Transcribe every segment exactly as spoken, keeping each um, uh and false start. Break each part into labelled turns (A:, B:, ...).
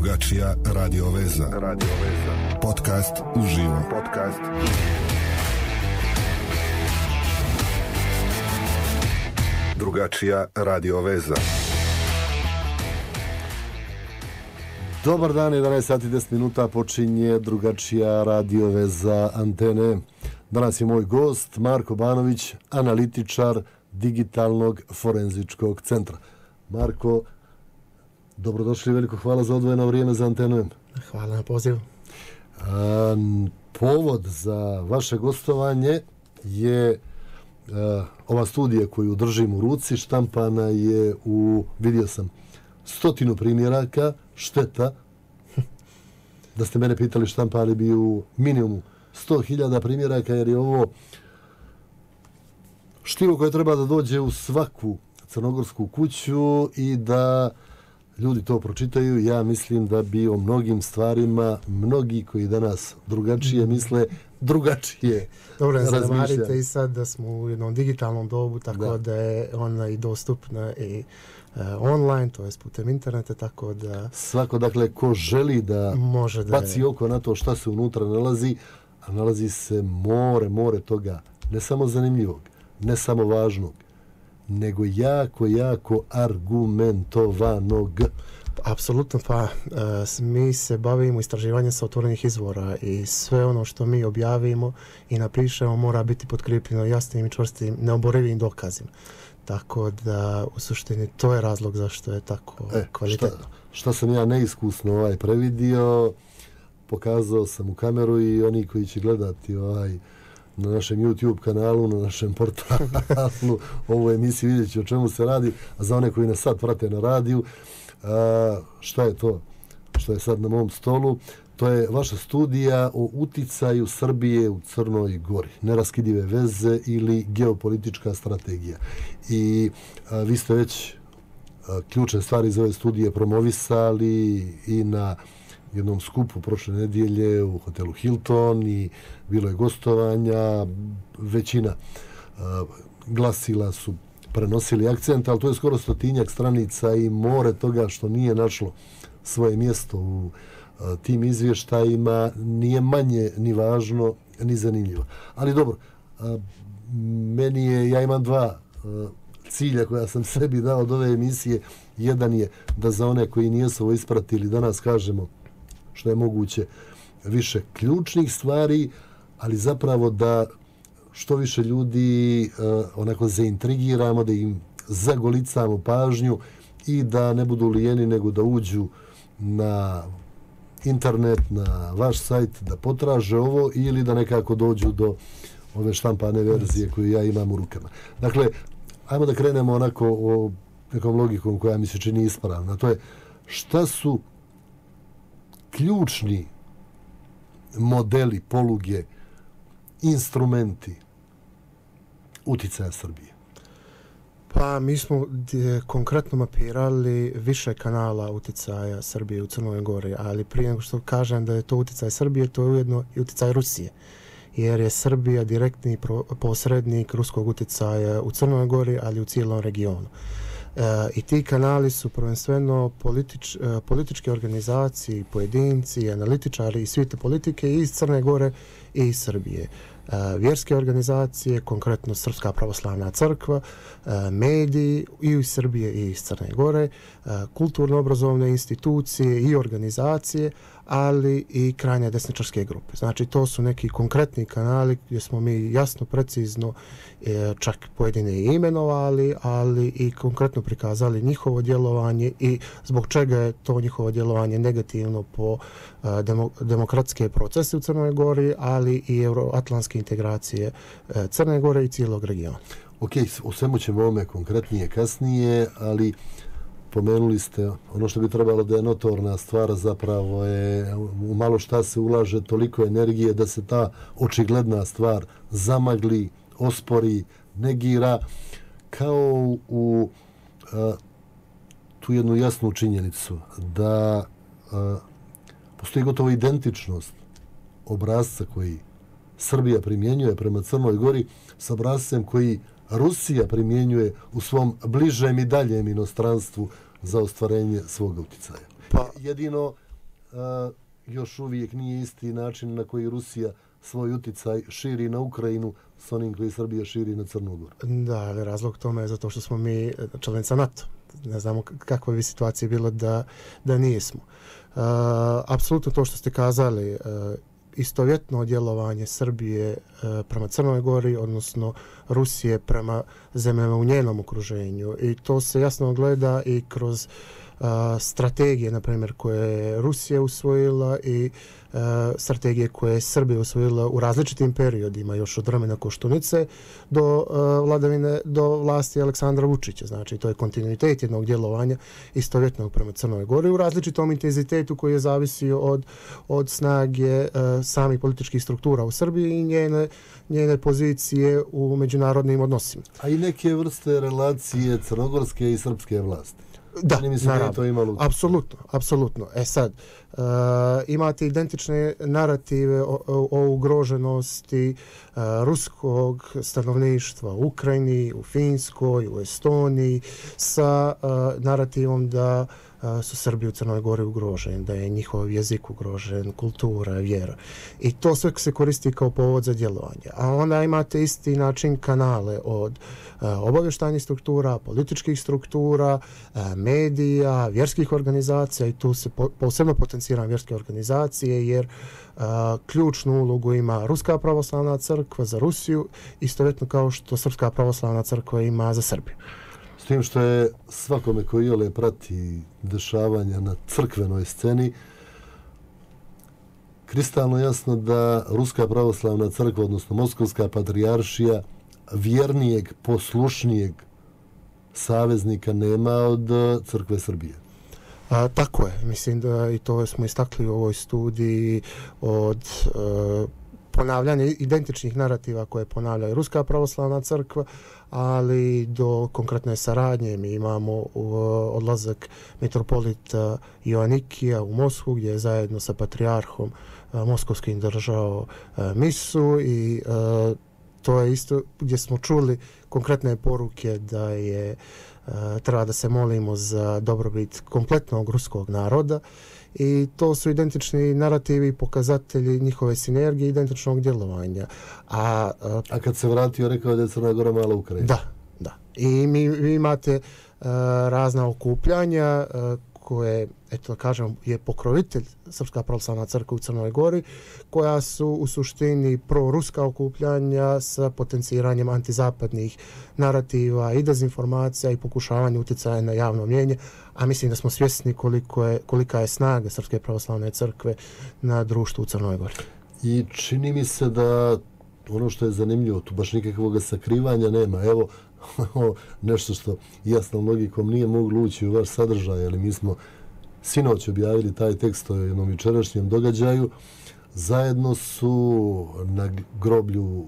A: Drugačija radio veza. Radio veza. Podcast uživo. Podcast Drugačija radio veza.
B: Dobar dan, jedanaest sati deset minuta počinje Drugačija radio veza Antene. Danas je moj gost Marko Banović, analitičar Digitalnog forenzičkog centra. Marko, dobrodošli, veliko hvala za odvojeno vrijeme za Antenu.
C: Hvala na pozivu.
B: A, povod za vaše gostovanje je a, ova studija koju držim u ruci, štampana je u, vidio sam, stotinu primjeraka, šteta. Da ste mene pitali, štampali bi u minimumu sto hiljada primjeraka, jer je ovo štivo koje treba da dođe u svaku crnogorsku kuću i da ljudi to pročitaju. Ja mislim da bi o mnogim stvarima mnogi koji danas drugačije misle, drugačije
C: Dobro,
B: razmišljaju.
C: Dobro, zamarite i sad da smo u jednom digitalnom dobu, tako da, da je ona i dostupna i uh, online, to je putem interneta, tako da...
B: Svako, dakle, ko želi da,
C: može da
B: baci oko na to šta se unutra nalazi, a nalazi se more, more toga, ne samo zanimljivog, ne samo važnog, nego jako, jako argumentovanog.
C: Apsolutno, pa uh, mi se bavimo istraživanjem sa otvorenih izvora i sve ono što mi objavimo i napišemo mora biti potkrepljeno jasnim i čvrstim, neoborivim dokazima. Tako da, u suštini, to je razlog zašto je tako e, kvalitetno.
B: Šta, šta sam ja neiskusno ovaj previdio, pokazao sam u kameru i oni koji će gledati ovaj na našem YouTube kanalu, na našem portalu, ovu emisiju, vidjet će o čemu se radi, a za one koji nas sad prate na radiju, a, šta je to što je sad na mom stolu? To je vaša studija o uticaju Srbije u Crnoj Gori, neraskidive veze ili geopolitička strategija. I a, vi ste već a, ključne stvari iz ove studije promovisali i na jednom skupu prošle nedjelje u hotelu Hilton i bilo je gostovanja, većina uh, glasila su prenosili akcent, ali to je skoro stotinjak stranica i more toga što nije našlo svoje mjesto u uh, tim izvještajima, nije manje ni važno ni zanimljivo. Ali dobro, uh, meni je, ja imam dva uh, cilja koja sam sebi dao od ove emisije. Jedan je da za one koji nijesu ovo ispratili danas kažemo što je moguće više ključnih stvari, ali zapravo da što više ljudi uh, onako zaintrigiramo, da im zagolicamo pažnju i da ne budu lijeni, nego da uđu na internet, na vaš sajt, da potraže ovo ili da nekako dođu do ove štampane verzije koju ja imam u rukama. Dakle, ajmo da krenemo onako o nekom logikom koja mi se čini ispravna. To je šta su ključni modeli, poluge, instrumenti uticaja Srbije?
C: Pa mi smo d- konkretno mapirali više kanala uticaja Srbije u Crnoj Gori, ali prije nego što kažem da je to uticaj Srbije, to je ujedno i uticaj Rusije, jer je Srbija direktni pro- posrednik ruskog uticaja u Crnoj Gori, ali u cijelom regionu. E, I ti kanali su prvenstveno politič, e, političke organizacije, pojedinci, analitičari i svite politike iz Crne Gore i iz Srbije. E, vjerske organizacije, konkretno Srpska pravoslavna crkva, e, mediji i iz Srbije i iz Crne Gore, e, kulturno-obrazovne institucije i organizacije, ali i krajnje desničarske grupe. Znači, to su neki konkretni kanali gdje smo mi jasno, precizno, e, čak pojedine i imenovali, ali i konkretno prikazali njihovo djelovanje i zbog čega je to njihovo djelovanje negativno po e, demo, demokratske procese u Crnoj Gori, ali i euroatlantske integracije e, Crne Gore i cijelog regiona.
B: Ok, o svemu ćemo ovome konkretnije kasnije, ali pomenuli ste ono što bi trebalo da je notorna stvar, zapravo je u malo šta se ulaže toliko energije da se ta očigledna stvar zamagli, ospori, negira, kao u a, tu jednu jasnu činjenicu da a, postoji gotovo identičnost obrazca koji Srbija primjenjuje prema Crnoj Gori s obrazcem koji Rusija primjenjuje u svom bližem i daljem inostranstvu za ostvarenje svog uticaja. Pa jedino a, još uvijek nije isti način na koji Rusija svoj utjecaj širi na Ukrajinu s onim koji Srbija širi na Crnu Goru.
C: Da, ali razlog tome je zato što smo mi članica NATO. Ne znamo kakva bi situacija bila da, da nismo. Uh, apsolutno to što ste kazali, uh, istovjetno djelovanje Srbije uh, prema Crnoj Gori, odnosno Rusije prema zemljama u njenom okruženju. I to se jasno gleda i kroz uh, strategije, na primjer, koje je Rusija usvojila i uh, strategije koje je Srbija usvojila u različitim periodima, još od vremena Koštunice do uh, vladavine, do vlasti Aleksandra Vučića. Znači, to je kontinuitet jednog djelovanja istovjetnog prema Crnoj Gori u različitom intenzitetu koji je zavisio od, od snage uh, samih političkih struktura u Srbiji i njene, njene pozicije u međunarodnim odnosima.
B: A i neke vrste relacije crnogorske i srpske vlasti.
C: Da,
B: naravno, to imalo...
C: apsolutno, apsolutno. E sad, uh, imate identične narative o, o, o ugroženosti uh, ruskog stanovništva u Ukrajini, u Finskoj, u Estoniji, sa uh, narativom da uh, su Srbi u Crnoj Gori ugroženi, da je njihov jezik ugrožen, kultura, vjera. I to sve se koristi kao povod za djelovanje. A onda imate isti način kanale od uh, obavještajnih struktura, političkih struktura, uh, medija, vjerskih organizacija, i tu se po, posebno potenciram vjerske organizacije, jer uh, ključnu ulogu ima Ruska pravoslavna crkva za Rusiju, istovjetno kao što Srpska pravoslavna crkva ima za Srbiju.
B: S tim što je svakome koji iole prati dešavanja na crkvenoj sceni kristalno jasno da Ruska pravoslavna crkva, odnosno Moskovska patrijaršija, vjernijeg, poslušnijeg saveznika nema od crkve Srbije.
C: A, tako je. Mislim da i to smo istakli u ovoj studiji od uh, ponavljanja identičnih narativa koje ponavlja Ruska pravoslavna crkva, ali do konkretne saradnje. Mi imamo uh, odlazak mitropolita Joanikija u Moskvu, gdje je zajedno sa patrijarhom uh, moskovskim držao uh, misu, i uh, to je isto gdje smo čuli konkretne poruke da je uh, treba da se molimo za dobrobit kompletnog ruskog naroda, i to su identični narativi i pokazatelji njihove sinergije, identičnog djelovanja. A, uh,
B: A kad se vratio, rekao da je Crna Gora mala Ukrajina.
C: Da, da. I mi, vi imate uh, razna okupljanja uh, koje, eto da kažem, je pokrovitelj Srpska pravoslavna crkva u Crnoj Gori, koja su u suštini proruska okupljanja sa potenciranjem antizapadnih narativa i dezinformacija i pokušavanja utjecaja na javno mnijenje, a mislim da smo svjesni koliko je, kolika je snaga Srpske pravoslavne crkve na društvu u Crnoj Gori.
B: I čini mi se da ono što je zanimljivo, tu baš nikakvog sakrivanja nema. Evo, nešto što jasnom logikom nije moglo ući u vaš sadržaj, ali mi smo sinoć objavili taj tekst o jednom jučerašnjem događaju. Zajedno su na groblju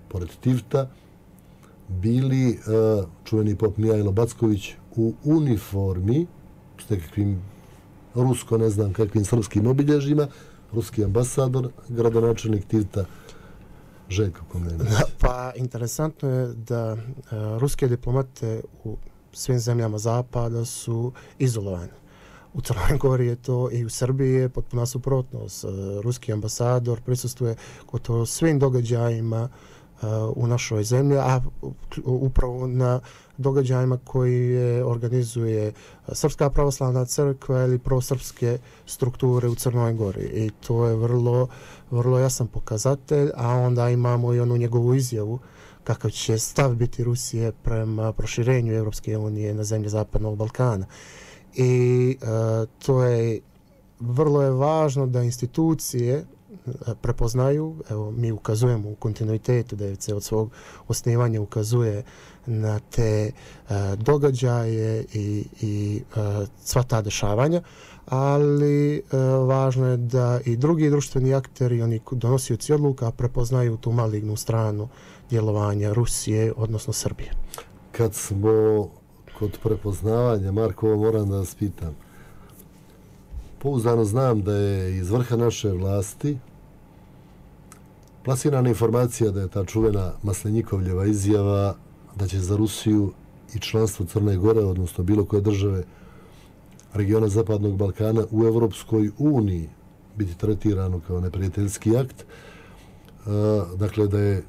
B: pored Tivta bili uh, čuveni pop Mijajlo Backović u uniformi s nekakvim rusko, ne znam kakvim srpskim obilježjima, ruski ambasador, gradonačelnik Tivta Željko Komnenović.
C: Pa interesantno je da uh, ruske diplomate u svim zemljama zapada su izolovani. U Crnoj Gori je to, i u Srbiji je potpuno suprotnost. Uh, ruski ambasador prisustvuje gotovo svim događajima uh, u našoj zemlji, a upravo na događajima koji je organizuje Srpska pravoslavna crkva ili prosrpske strukture u Crnoj Gori. I to je vrlo, vrlo jasan pokazatelj, a onda imamo i onu njegovu izjavu kakav će stav biti Rusije prema proširenju Europske unije na zemlje Zapadnog Balkana. I uh, to je vrlo je važno da institucije prepoznaju, evo mi ukazujemo u kontinuitetu, da je od svog osnivanja ukazuje na te uh, događaje i, i uh, sva ta dešavanja, ali uh, važno je da i drugi društveni akteri, oni donosioci odluka, prepoznaju tu malignu stranu djelovanja Rusije, odnosno Srbije.
B: Kad smo kod prepoznavanja, Marko, ovo moram da vas pitam. Pouzdano znam da je iz vrha naše vlasti plasirana informacija da je ta čuvena Maslenjikovljeva izjava da će za Rusiju i članstvo Crne Gore, odnosno bilo koje države regiona Zapadnog Balkana u Evropskoj uniji biti tretirano kao neprijateljski akt. Dakle, da je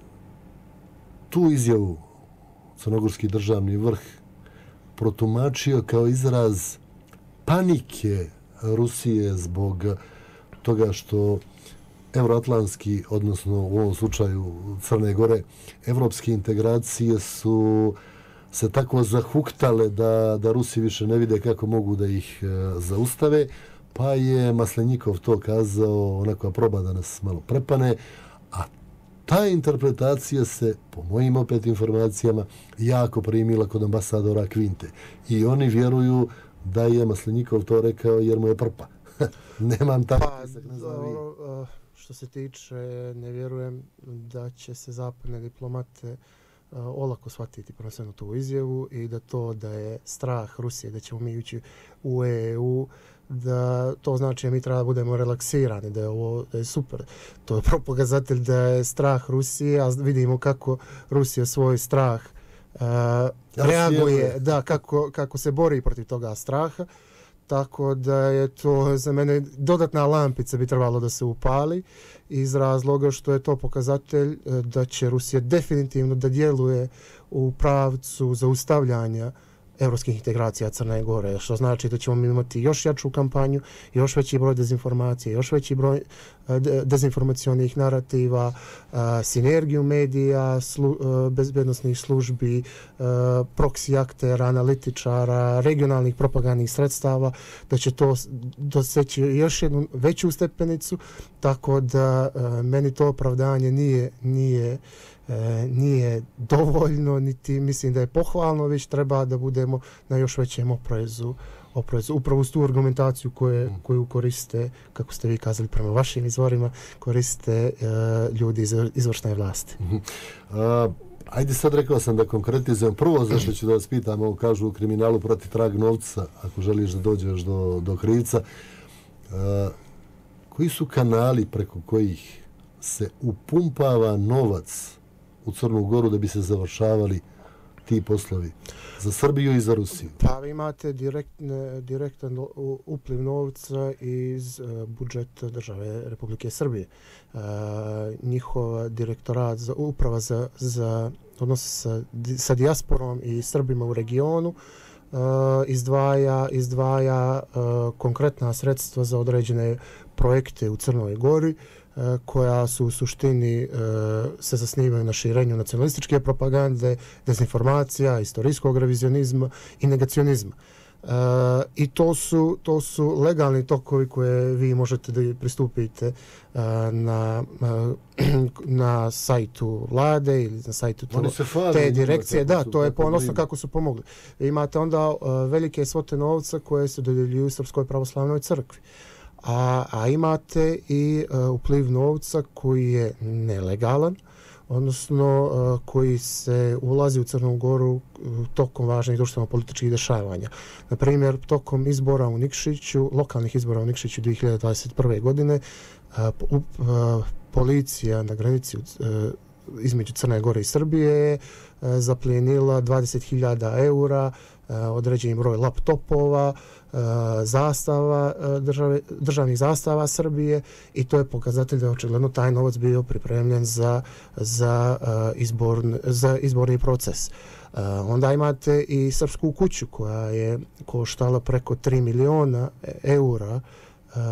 B: tu izjavu crnogorski državni vrh protumačio kao izraz panike Rusije zbog toga što euroatlantski, odnosno u ovom slučaju Crne Gore, evropske integracije su se tako zahuktale da, da Rusi više ne vide kako mogu da ih e, zaustave, pa je Maslenikov to kazao onako proba da nas malo prepane, a ta interpretacija se, po mojim opet informacijama, jako primila kod ambasadora Kvinte. I oni vjeruju da je Maslenikov to rekao jer mu je prpa. Nemam tako
C: pa,
B: tisak, ne znam vi.
C: Što se tiče, ne vjerujem da će se zapadne diplomate uh, olako shvatiti prvenstveno tu izjavu i da to da je strah Rusije da ćemo mi ući u E U, da to znači da mi treba da budemo relaksirani, da je ovo da je super. To je pokazatelj da je strah Rusije, a vidimo kako Rusija svoj strah uh, reaguje, da, kako, kako se bori protiv toga straha. Tako da je to za mene dodatna lampica bi trebalo da se upali iz razloga što je to pokazatelj da će Rusija definitivno da djeluje u pravcu zaustavljanja evropskih integracija Crne Gore, što znači da ćemo imati još jaču kampanju, još veći broj dezinformacije, još veći broj dezinformacionih narativa, sinergiju medija, slu, bezbednostnih službi, proksi aktera, analitičara, regionalnih propagandnih sredstava, da će to doseći još jednu veću stepenicu, tako da meni to opravdanje nije, nije E, nije dovoljno, niti mislim da je pohvalno, već treba da budemo na još većem oprezu, oprezu. Upravo uz tu argumentaciju koje, koju koriste, kako ste vi kazali prema vašim izvorima, koriste e, ljudi iz izvršne vlasti.
B: Uh, ajde sad rekao sam da konkretizujem. Prvo zašto ću da vas pitam, ovo kažu u kriminalu prati trag novca, ako želiš da dođeš do, do krivca. Uh, koji su kanali preko kojih se upumpava novac u Crnu Goru da bi se završavali ti poslovi za Srbiju i za Rusiju?
C: Pa vi imate direktne, direktan upliv novca iz uh, budžeta države Republike Srbije. Uh, njihova direktorat, za, uprava za, za odnose sa, sa dijasporom i Srbima u regionu uh, izdvaja, izdvaja uh, konkretna sredstva za određene projekte u Crnoj Gori, koja su u suštini se zasnivaju na širenju nacionalističke propagande, dezinformacija, istorijskog revizionizma i negacionizma. I to su, to su legalni tokovi koje vi možete da pristupite na, na sajtu vlade ili na sajtu to, te direkcije. Da, to je ponosno kako su pomogli. Imate onda velike svote novca koje se dodjeljuju Srpskoj pravoslavnoj crkvi. A, a imate i uh, upliv novca koji je nelegalan, odnosno uh, koji se ulazi u Crnu Goru uh, tokom važnih društveno-političkih dešavanja. Na primjer, tokom izbora u Nikšiću, lokalnih izbora u Nikšiću dvije hiljade dvadeset prve. godine, uh, uh, policija na granici uh, između Crne Gore i Srbije je uh, zaplijenila dvadeset hiljada eura, uh, određeni broj laptopova, zastava države, državnih zastava Srbije, i to je pokazatelj da je očigledno taj novac bio pripremljen za, za, izborn, za izborni proces. Onda imate i Srpsku kuću koja je koštala preko tri miliona eura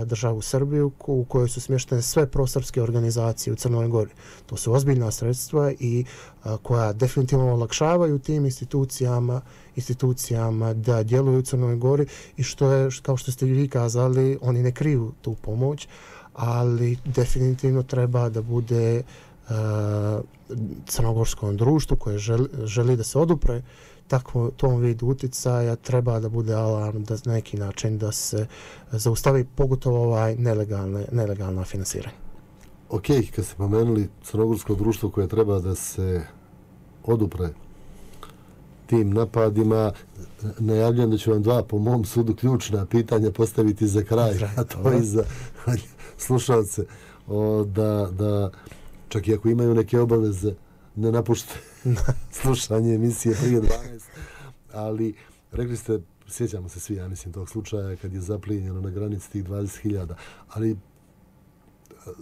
C: državu Srbiju, u kojoj su smještene sve prosrpske organizacije u Crnoj Gori. To su ozbiljna sredstva i a, koja definitivno olakšavaju tim institucijama institucijama da djeluju u Crnoj Gori, i što je, kao što ste vi kazali, oni ne kriju tu pomoć, ali definitivno treba da bude a, crnogorskom društvu koje želi, želi da se odupre takvom tom vidu uticaja, treba da bude alarm da na neki način da se zaustavi pogotovo ovaj nelegalne, nelegalna finansiranja.
B: Ok, kad ste pomenuli crnogorsko društvo koje treba da se odupre tim napadima, najavljam da ću vam dva, po mom sudu, ključna pitanja postaviti za kraj, a to i za slušalce, o, da, da čak i ako imaju neke obaveze, ne napušte slušanje emisije prije dvanaest, ali rekli ste sjećamo se svi, ja mislim, tog slučaja kad je zaplijenjeno na granici tih dvadeset hiljada. Ali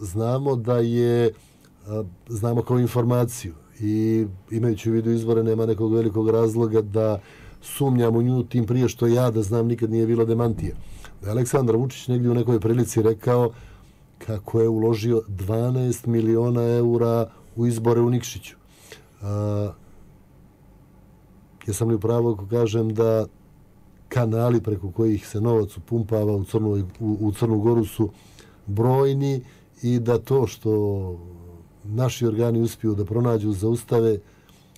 B: znamo da je, znamo kao informaciju i imajući u vidu izvore nema nekog velikog razloga da sumnjam u nju, tim prije što ja da znam nikad nije bilo demantija. Da je Aleksandar Vučić negdje u nekoj prilici rekao kako je uložio dvanaest miliona eura u izbore u Nikšiću. Uh, jesam li u pravu ako kažem da kanali preko kojih se novac upumpava u Crnu, u, u Crnu Goru su brojni i da to što naši organi uspiju da pronađu, zaustave,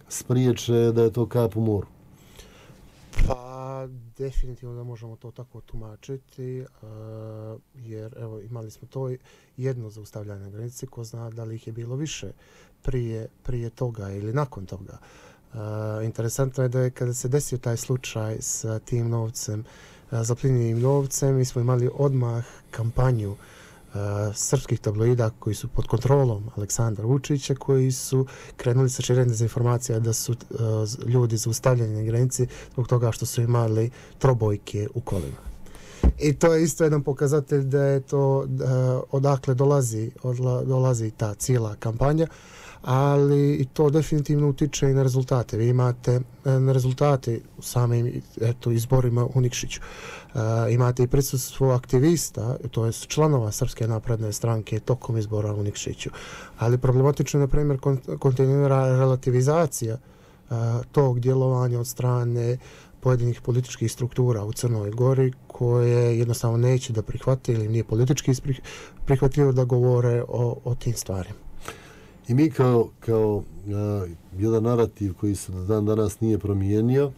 B: spriječe, da je to kap u moru?
C: Pa, definitivno da možemo to tako tumačiti, uh, jer evo, imali smo to jedno zaustavljanje na granici, ko zna da li ih je bilo više prije, prije toga ili nakon toga. Uh, interesantno je da je kada se desio taj slučaj sa tim novcem, uh, zapljenjenim novcem, mi smo imali odmah kampanju Uh, srpskih tabloida koji su pod kontrolom Aleksandra Vučića, koji su krenuli sa širenjem dezinformacija da su uh, ljudi zaustavljeni na granici zbog toga što su imali trobojke u kolima. I to je isto jedan pokazatelj da je to uh, odakle dolazi, odla, dolazi ta cijela kampanja, ali i to definitivno utiče i na rezultate. Vi imate na rezultate u samim eto, izborima u Nikšiću. Uh, imate i prisustvo aktivista, to je članova Srpske napredne stranke tokom izbora u Nikšiću. Ali problematično je, na primjer, kontinuirana relativizacija uh, tog djelovanja od strane pojedinih političkih struktura u Crnoj Gori koje jednostavno neće da prihvate ili nije politički prihvatljivo da govore o, o tim stvarima.
B: I mi kao, kao uh, jedan narativ koji se do dan danas nije promijenio,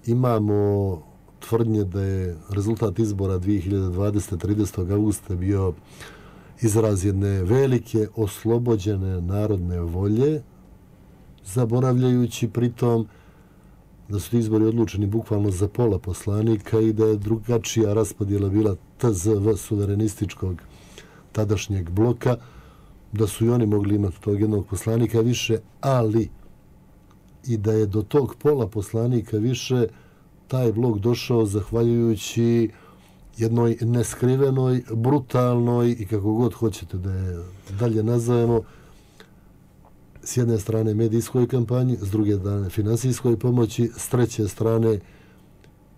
B: imamo tvrdnje da je rezultat izbora dvije hiljade dvadesete. tridesetog augusta bio izraz jedne velike oslobođene narodne volje, zaboravljajući pritom da su izbori odlučeni bukvalno za pola poslanika i da je drugačija raspodjela bila T Z V suverenističkog tadašnjeg bloka, da su i oni mogli imati tog jednog poslanika više, ali i da je do tog pola poslanika više taj blok došao zahvaljujući jednoj neskrivenoj, brutalnoj i kako god hoćete da je dalje nazovemo, s jedne strane medijskoj kampanji, s druge strane finansijskoj pomoći, s treće strane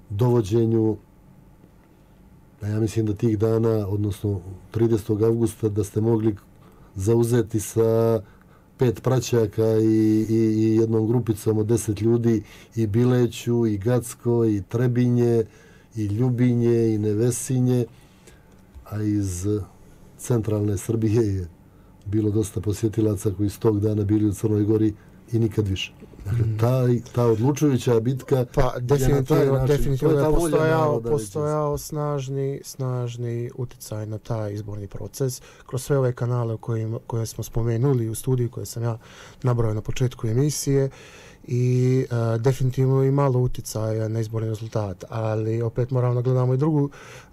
B: dovođenju, ja mislim da tih dana, odnosno tridesetog augusta, da ste mogli zauzeti sa pet praćaka i, i, i jednom grupicom od deset ljudi i Bileću, i Gacko, i Trebinje, i Ljubinje, i Nevesinje, a iz centralne Srbije je bilo dosta posjetilaca koji s tog dana bili u Crnoj Gori i nikad više. Dakle, ta, ta odlučujuća bitka
C: pa, definitivno,
B: način,
C: definitivno je postojao, postojao snažni, snažni uticaj na taj izborni proces kroz sve ove kanale koje, koje smo spomenuli u studiju koje sam ja nabrojao na početku emisije i uh, definitivno i malo uticaja na izborni rezultat, ali opet moramo da gledamo i drugu,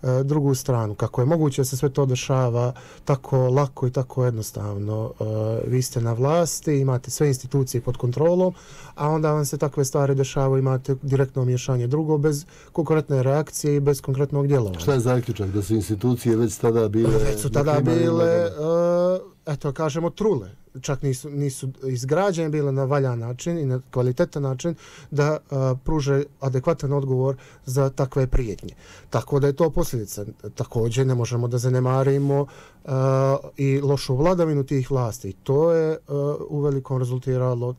C: uh, drugu stranu. Kako je moguće da se sve to dešava tako lako i tako jednostavno? Uh, vi ste na vlasti, imate sve institucije pod kontrolom, a onda vam se takve stvari dešavaju, imate direktno miješanje drugo, bez konkretne reakcije i bez konkretnog djelovanja.
B: Šta je zaključak? Da su institucije već tada bile...
C: Već su tada bile, uh, eto kažemo, trule. Čak nisu, nisu izgrađene bile na valjan način i na kvalitetan način da uh, pruže adekvatan odgovor za takve prijetnje. Tako da je to posljedica. Također ne možemo da zanemarimo uh, i lošu vladavinu tih vlasti. To je uh, u velikom rezultiralo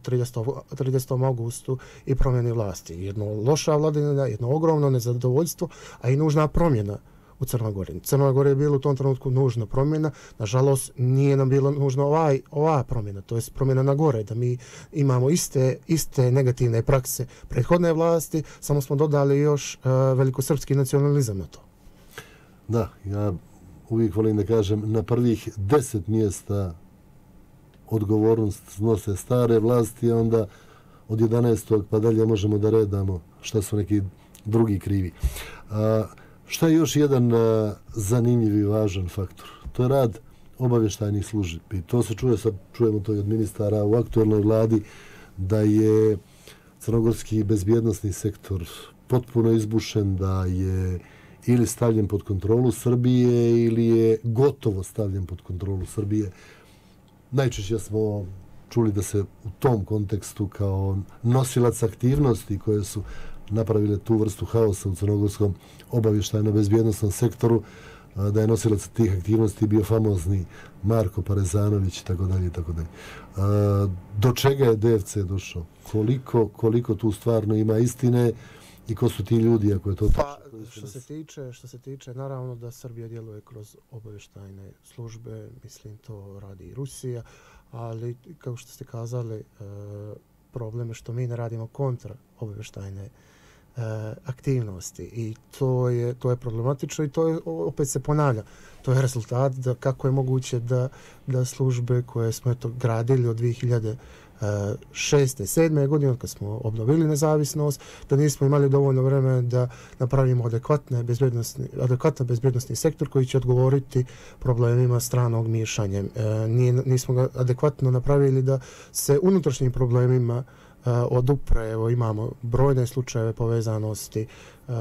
C: tridesetog augustu i promjeni vlasti. Jedno loša vladavina, jedno ogromno nezadovoljstvo, a i nužna promjena u Crnoj Gori. Crnoj Gori je bilo u tom trenutku nužna promjena. Nažalost, nije nam bila nužna ovaj, ova promjena, to je promjena na gore, da mi imamo iste, iste negativne prakse prethodne vlasti, samo smo dodali još uh, velikosrpski nacionalizam na to.
B: Da, ja uvijek volim da kažem, na prvih deset mjesta odgovornost snose stare vlasti, a onda od jedanaestog pa dalje možemo da redamo šta su neki drugi krivi. A, Šta je još jedan uh, zanimljiv i važan faktor? To je rad obavještajnih službi. To se čuje, sad čujemo to i od ministara u aktualnoj vladi, da je crnogorski bezbjednosni sektor potpuno izbušen, da je ili stavljen pod kontrolu Srbije ili je gotovo stavljen pod kontrolu Srbije. Najčešće smo čuli da se u tom kontekstu kao nosilac aktivnosti koje su napravile tu vrstu haosa u crnogorskom obavještajno-bezbjednosnom sektoru, da je nosilac tih aktivnosti bio famozni Marko Parezanović i tako dalje i tako dalje. Do čega je D F C došao? Koliko, koliko tu stvarno ima istine i ko su ti ljudi ako je to
C: pa, što se tiče, što se tiče, naravno da Srbija djeluje kroz obavještajne službe, mislim to radi i Rusija, ali kao što ste kazali, problem je što mi ne radimo kontra obavještajne aktivnosti i to je, to je problematično i to je, opet se ponavlja. To je rezultat da kako je moguće da, da službe koje smo eto gradili od dvije hiljade šeste, sedme godine kad smo obnovili nezavisnost, da nismo imali dovoljno vremena da napravimo adekvatne bezbjednosni, adekvatan bezbjednosni sektor koji će odgovoriti problemima stranog miješanja. E, nije, nismo ga adekvatno napravili da se unutrašnjim problemima Uh, odupre, evo imamo brojne slučajeve povezanosti uh,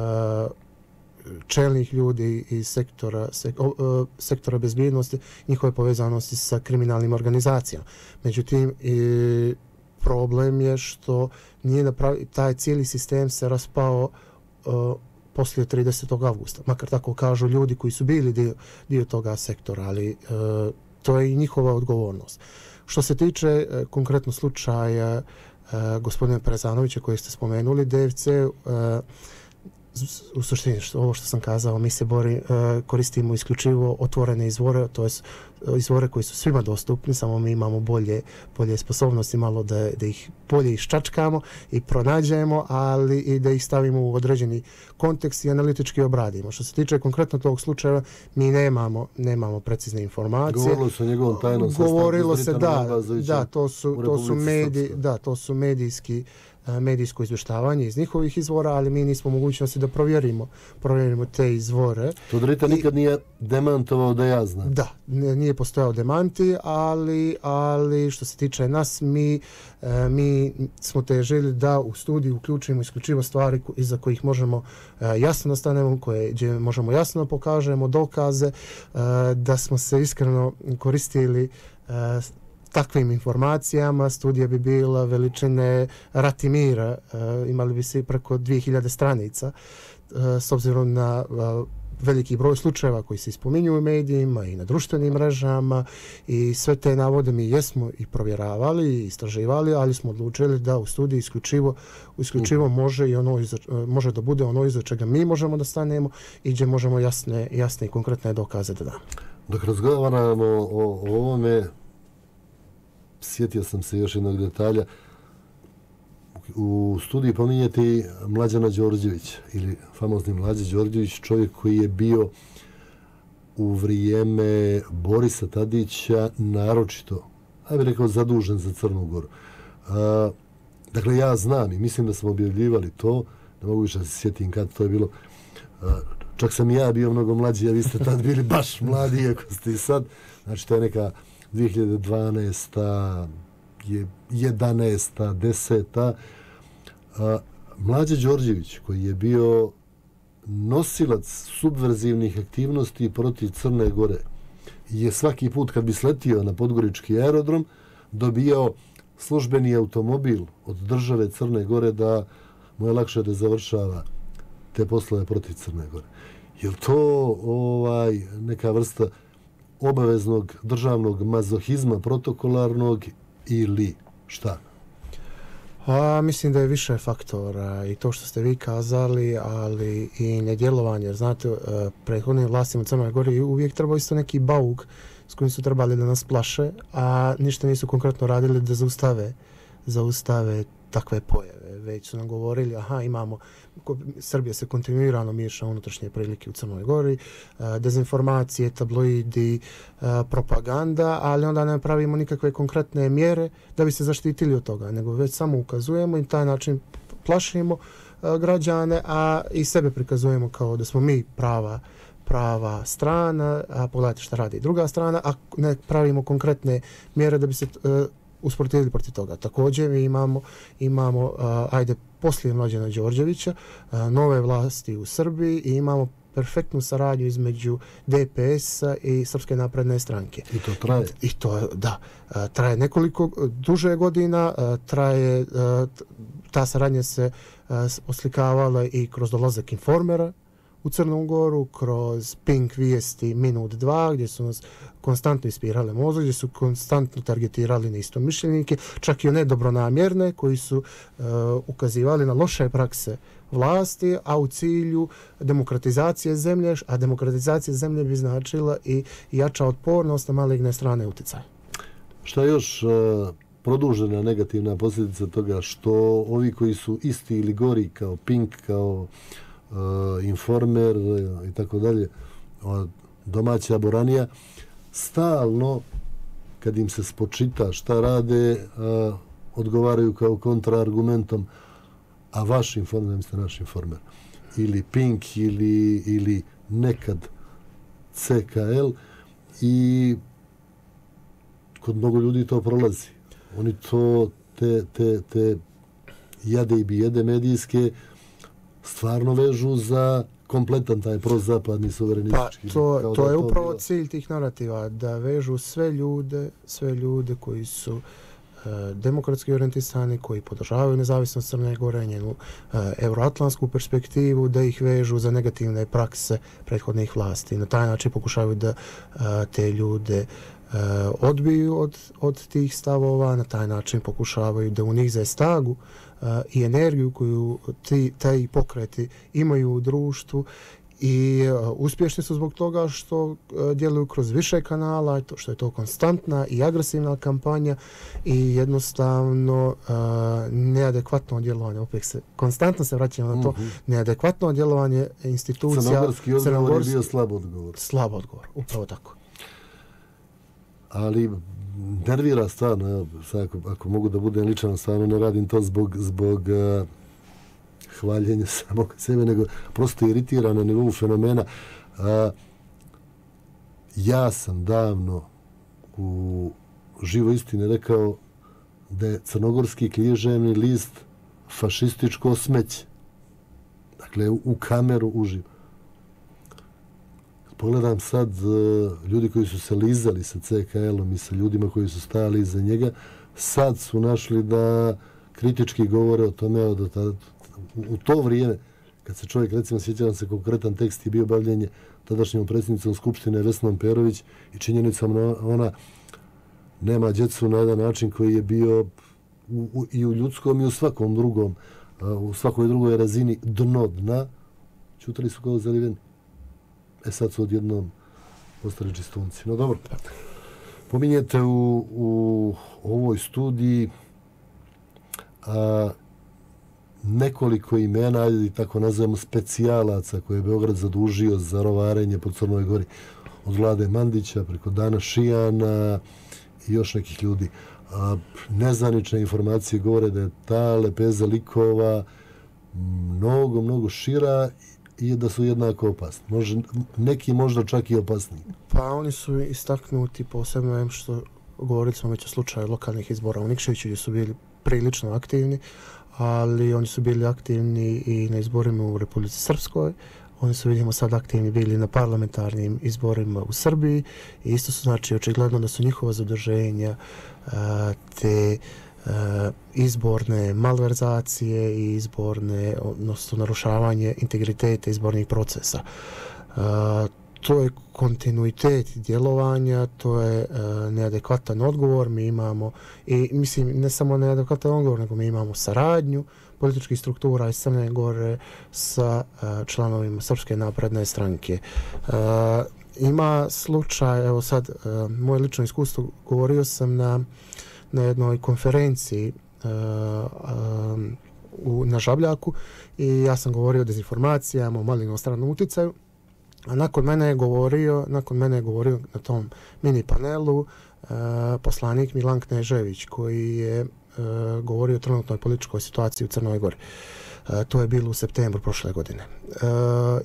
C: čelnih ljudi iz sektora, sek, uh, sektora bezbjednosti, njihove povezanosti sa kriminalnim organizacijama. Međutim, i problem je što nije napravi, taj cijeli sistem se raspao uh, poslije tridesetog avgusta. Makar tako kažu ljudi koji su bili dio, dio toga sektora, ali uh, to je i njihova odgovornost. Što se tiče uh, konkretno slučaja Uh, gospodina Parezanovića koji ste spomenuli, D F C, uh, u suštini što, ovo što sam kazao, mi se bori, uh, koristimo isključivo otvorene izvore, to je izvore koji su svima dostupni, samo mi imamo bolje, bolje sposobnosti malo da, da ih bolje iščačkamo i pronađemo, ali i da ih stavimo u određeni kontekst i analitički obradimo. Što se tiče konkretno tog slučaja, mi nemamo, nemamo precizne informacije.
B: Govorilo se o njegovom tajnom sastanku.
C: Govorilo se, da, da, to su, to su mediji, da, to su medijski medijsko izvještavanje iz njihovih izvora, ali mi nismo mogućnosti da provjerimo, provjerimo te izvore.
B: Todorita nikad nije demantovao da ja znam.
C: Da, nije postojao demanti, ali, ali što se tiče nas, mi, mi smo težili da u studiju uključimo isključivo stvari iza kojih možemo jasno nastanemo, koje gdje možemo jasno pokažemo dokaze, da smo se iskreno koristili takvim informacijama. Studija bi bila veličine Ratimira, e, imali bi se preko dvije hiljade stranica, e, s obzirom na e, veliki broj slučajeva koji se ispominju u medijima i na društvenim mrežama i sve te navode mi jesmo i provjeravali i istraživali, ali smo odlučili da u studiji isključivo, isključivo može, i ono iza, može da bude ono iza čega mi možemo da stanemo i gdje možemo jasne, jasne i konkretne dokaze da damo.
B: Dok razgovaramo o, o ovome, sjetio sam se još jednog detalja. U studiji pominjete Mlađana Đorđevića, ili famozni Mlađe Đorđević, čovjek koji je bio u vrijeme Borisa Tadića naročito, ja bih rekao, zadužen za Crnu Goru. A, dakle, ja znam i mislim da smo objavljivali to, ne mogu više da se sjetim kad to je bilo. A, čak sam i ja bio mnogo mlađi, a vi ste tad bili baš mladi, iako ste i sad. Znači, to je neka dvije hiljade dvanaesta, jedanaesta, deseta. Mlađe Đorđević, koji je bio nosilac subverzivnih aktivnosti protiv Crne Gore, je svaki put kad bi sletio na podgorički aerodrom dobijao službeni automobil od države Crne Gore da mu je lakše da završava te poslove protiv Crne Gore. Je li to ovaj, neka vrsta obaveznog državnog mazohizma protokolarnog ili šta?
C: A, mislim da je više faktora i to što ste vi kazali, ali i nedjelovanje. Jer znate, prethodnim vlastima u Crnoj Gori uvijek trebao isto neki bauk s kojim su trebali da nas plaše, a ništa nisu konkretno radili da zaustave, zaustave takve pojave. Već su nam govorili, aha, imamo, Srbija se kontinuirano miješa unutrašnje prilike u Crnoj Gori, dezinformacije, tabloidi, propaganda, ali onda ne pravimo nikakve konkretne mjere da bi se zaštitili od toga, nego već samo ukazujemo i taj način plašimo građane, a i sebe prikazujemo kao da smo mi prava prava strana, a pogledajte šta radi druga strana, a ne pravimo konkretne mjere da bi se uh, usprotivili protiv toga. Također mi imamo, imamo uh, ajde poslije Mlađana Đorđevića, nove vlasti u Srbiji i imamo perfektnu saradnju između D P S-a i Srpske napredne stranke.
B: I to traje?
C: I to, da, traje nekoliko duže godina, traje, ta saradnja se oslikavala i kroz dolazak Informera u Crnu Goru, kroz Pink vijesti minut dva, gdje su nas konstantno ispirale mozak, gdje su konstantno targetirali na istomišljenike, čak i one dobronamjerne koji su uh, ukazivali na loše prakse vlasti, a u cilju demokratizacije zemlje, a demokratizacija zemlje bi značila i jača otpornost na maligne strane utjecaja.
B: Šta još uh, produžena negativna posljedica toga što ovi koji su isti ili gori kao Pink, kao Uh, Informer uh, i tako dalje, uh, domaća boranija, stalno kad im se spočita šta rade, uh, odgovaraju kao kontraargumentom, a vaš Informer, ste naš Informer, ili Pink ili, ili nekad C K L, i kod mnogo ljudi to prolazi. Oni to, te, te, te jade i bijede medijske stvarno vežu za kompletan taj prozapadni suverenistički.
C: Pa to, to je upravo bilo cilj tih narativa, da vežu sve ljude, sve ljude koji su e, demokratski orijentisani, koji podržavaju nezavisnost Crne Gore, njenu e, euroatlantsku perspektivu, da ih vežu za negativne prakse prethodnih vlasti. Na taj način pokušavaju da e, te ljude e, odbiju od, od tih stavova, na taj način pokušavaju da unize snagu i energiju koju ti, taj pokreti imaju u društvu i uh, uspješni su zbog toga što uh, djeluju kroz više kanala, to što je to konstantna i agresivna kampanja i jednostavno uh, neadekvatno djelovanje, opet se konstantno se vraćamo na to, mm-hmm. neadekvatno djelovanje institucija.
B: Crnogorski odgovor je bio slab odgovor.
C: Slab odgovor, upravo tako.
B: Ali nervira stvarno, evo, sad ako, ako mogu da budem ličan, stvarno ne radim to zbog, zbog uh, hvaljenja samog sebe, nego prosto iritira na nivou fenomena. Uh, ja sam davno u Živo istine rekao da je crnogorski književni list fašističko smeće. Dakle, u, u kameru uživo. Pogledam sad uh, ljudi koji su se lizali sa C K L-om i sa ljudima koji su stajali iza njega, sad su našli da kritički govore o tome da tada, u, u to vrijeme, kad se čovjek, recimo, sjećam se konkretan tekst je bio bavljenje tadašnjom predsjednicom Skupštine Vesnom Perović i činjenicom ona nema djecu na jedan način koji je bio u, u, i u ljudskom i u svakom drugom, uh, u svakoj drugoj razini dno dna, čutali su kao zaliveni. E sad su odjednom postali čistunci. No dobro, pominjete u, u ovoj studiji a, nekoliko imena, ajde tako nazivamo, specijalaca koje je Beograd zadužio za rovarenje po Crnoj Gori. Od Vlade Mandića preko Dana Šijana i još nekih ljudi. A, nezvanične informacije govore da je ta lepeza likova mnogo, mnogo šira i da su jednako opasni. Može, neki možda čak i opasniji.
C: Pa oni su istaknuti posebno što govorili smo već o slučaju lokalnih izbora u Nikšiću gdje su bili prilično aktivni, ali oni su bili aktivni i na izborima u Republici Srpskoj. Oni su, vidimo, sad aktivni bili na parlamentarnim izborima u Srbiji i isto su, znači, očigledno da su njihova zadrženja te Uh, izborne malverzacije i izborne, odnosno narušavanje integriteta izbornih procesa. Uh, to je kontinuitet djelovanja, to je uh, neadekvatan odgovor. Mi imamo, i mislim, ne samo neadekvatan odgovor, nego mi imamo saradnju političkih struktura iz Crne Gore sa uh, članovima Srpske napredne stranke. Uh, ima slučaj, evo sad, uh, moje lično iskustvo, govorio sam na na jednoj konferenciji uh, um, u, na Žabljaku i ja sam govorio o dezinformacijama, o malignom stranom utjecaju, a nakon mene je govorio, nakon mene je govorio na tom mini panelu uh, poslanik Milan Knežević koji je uh, govorio o trenutnoj političkoj situaciji u Crnoj Gori. Uh, to je bilo u septembru prošle godine. Uh,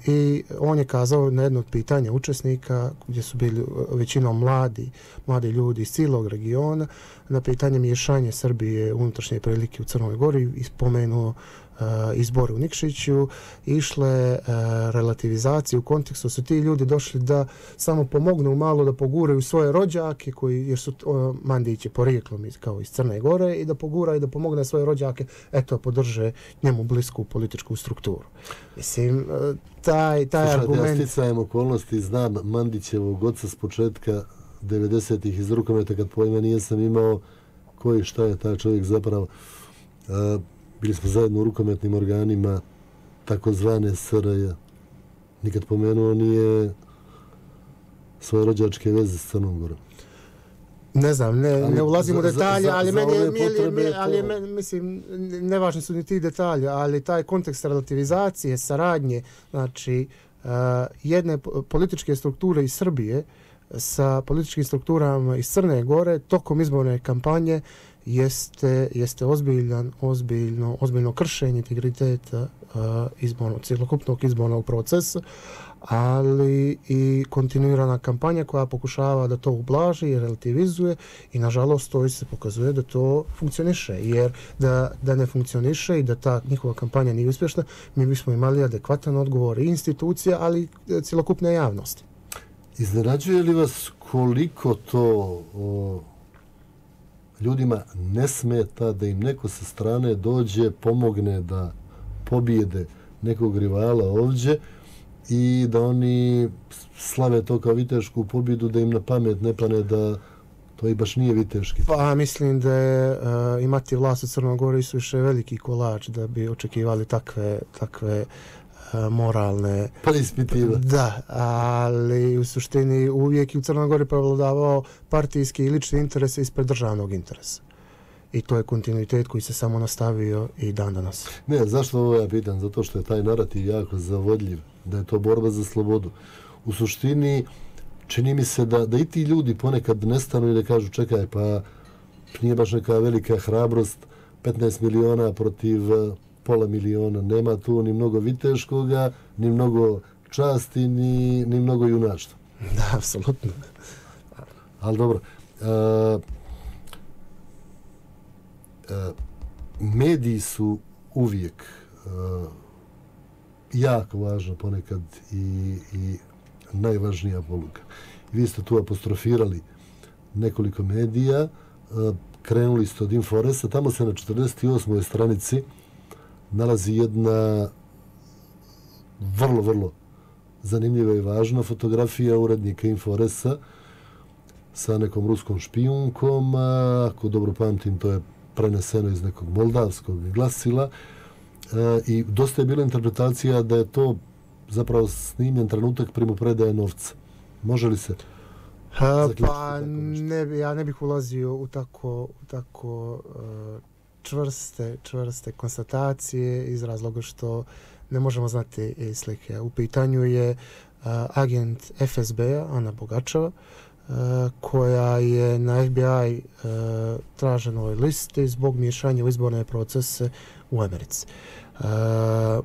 C: I on je kazao na jedno od pitanja učesnika, gdje su bili većinom mladi, mladi ljudi iz cijelog regiona, na pitanje miješanje Srbije unutrašnje prilike u Crnoj Gori i spomenuo uh, izbori u Nikšiću išle uh, relativizacije u kontekstu su ti ljudi došli da samo pomognu malo da poguraju svoje rođake koji jer su uh, Mandići porijeklom iz, kao iz Crne Gore i da poguraju da pomogne svoje rođake eto podrže njemu blisku političku strukturu. Mislim uh, taj taj
B: Slušajte,
C: argument
B: ja sticajem okolnosti znam Mandićevog oca s početka devedesetih iz rukometa kad pojma nijesam imao koji šta je taj čovjek zapravo. Uh, bili smo zajedno u rukometnim organima takozvane S R J. Nikad pomenuo nije svoje rođačke veze s Crnom Gorom.
C: Ne znam, ne,
B: Ali
C: ne ulazim
B: za-
C: u detalje,
B: za-
C: ali
B: za
C: meni je,
B: ove
C: meni je-
B: potrebe
C: meni- ali je
B: to-
C: meni, mislim, nevažni su ni ti detalji, ali taj kontekst relativizacije, saradnje, znači, uh, jedne po- političke strukture iz Srbije sa političkim strukturama iz Crne Gore tokom izborne kampanje jeste, jeste ozbiljan, ozbiljno, ozbiljno kršenje integriteta uh, izbornog, cjelokupnog izbornog procesa, ali i kontinuirana kampanja koja pokušava da to ublaži i relativizuje i nažalost to se pokazuje da to funkcioniše, jer da, da ne funkcioniše i da ta njihova kampanja nije uspješna, mi bismo imali adekvatan odgovor i institucija, ali i cjelokupne javnosti.
B: Iznenađuje li vas koliko to o, ljudima ne smeta da im neko sa strane dođe, pomogne da pobijede nekog rivala ovdje i da oni slave to kao vitešku pobjedu, da im na pamet ne pane da to i baš nije viteški.
C: Pa mislim da je uh, imati vlast u Crnoj Gori suviše veliki kolač da bi očekivali takve, takve uh, moralne
B: Pa ispitiva.
C: Da, ali u suštini uvijek i u Crnoj Gori prevladavao partijski i lični interes ispred državnog interesa. I to je kontinuitet koji se samo nastavio i dan danas.
B: Ne, zašto ovo ja pitam? Zato što je taj narativ jako zavodljiv, da je to borba za slobodu. U suštini, čini mi se da, da i ti ljudi ponekad nestanu i da kažu čekaj, pa nije baš neka velika hrabrost, petnaest miliona protiv uh, pola miliona. Nema tu ni mnogo viteškoga, ni mnogo časti, ni, ni mnogo junaštva.
C: Da, apsolutno.
B: Ali dobro, uh, uh, mediji su uvijek uh, jako važno ponekad i, i najvažnija poluga. I vi ste tu apostrofirali nekoliko medija, uh, krenuli ste od Inforesa, tamo se na četrdeset osmoj stranici nalazi jedna vrlo, vrlo zanimljiva i važna fotografija urednika Inforesa sa nekom ruskom špijunkom, a, ako dobro pamtim, to je preneseno iz nekog moldavskog glasila e, i dosta je bila interpretacija da je to zapravo snimljen trenutak primopredaje novca. Može li se
C: Ha,
B: zaključiti
C: pa
B: tako nešto?
C: ne, bi- ja ne bih ulazio u tako, u tako uh, čvrste, čvrste konstatacije iz razloga što ne možemo znati i slike. U pitanju je uh, agent F S B-a, Ana Bogačeva, uh, koja je na F B I uh, traženoj listi zbog miješanja u izborne procese u Americi. Uh,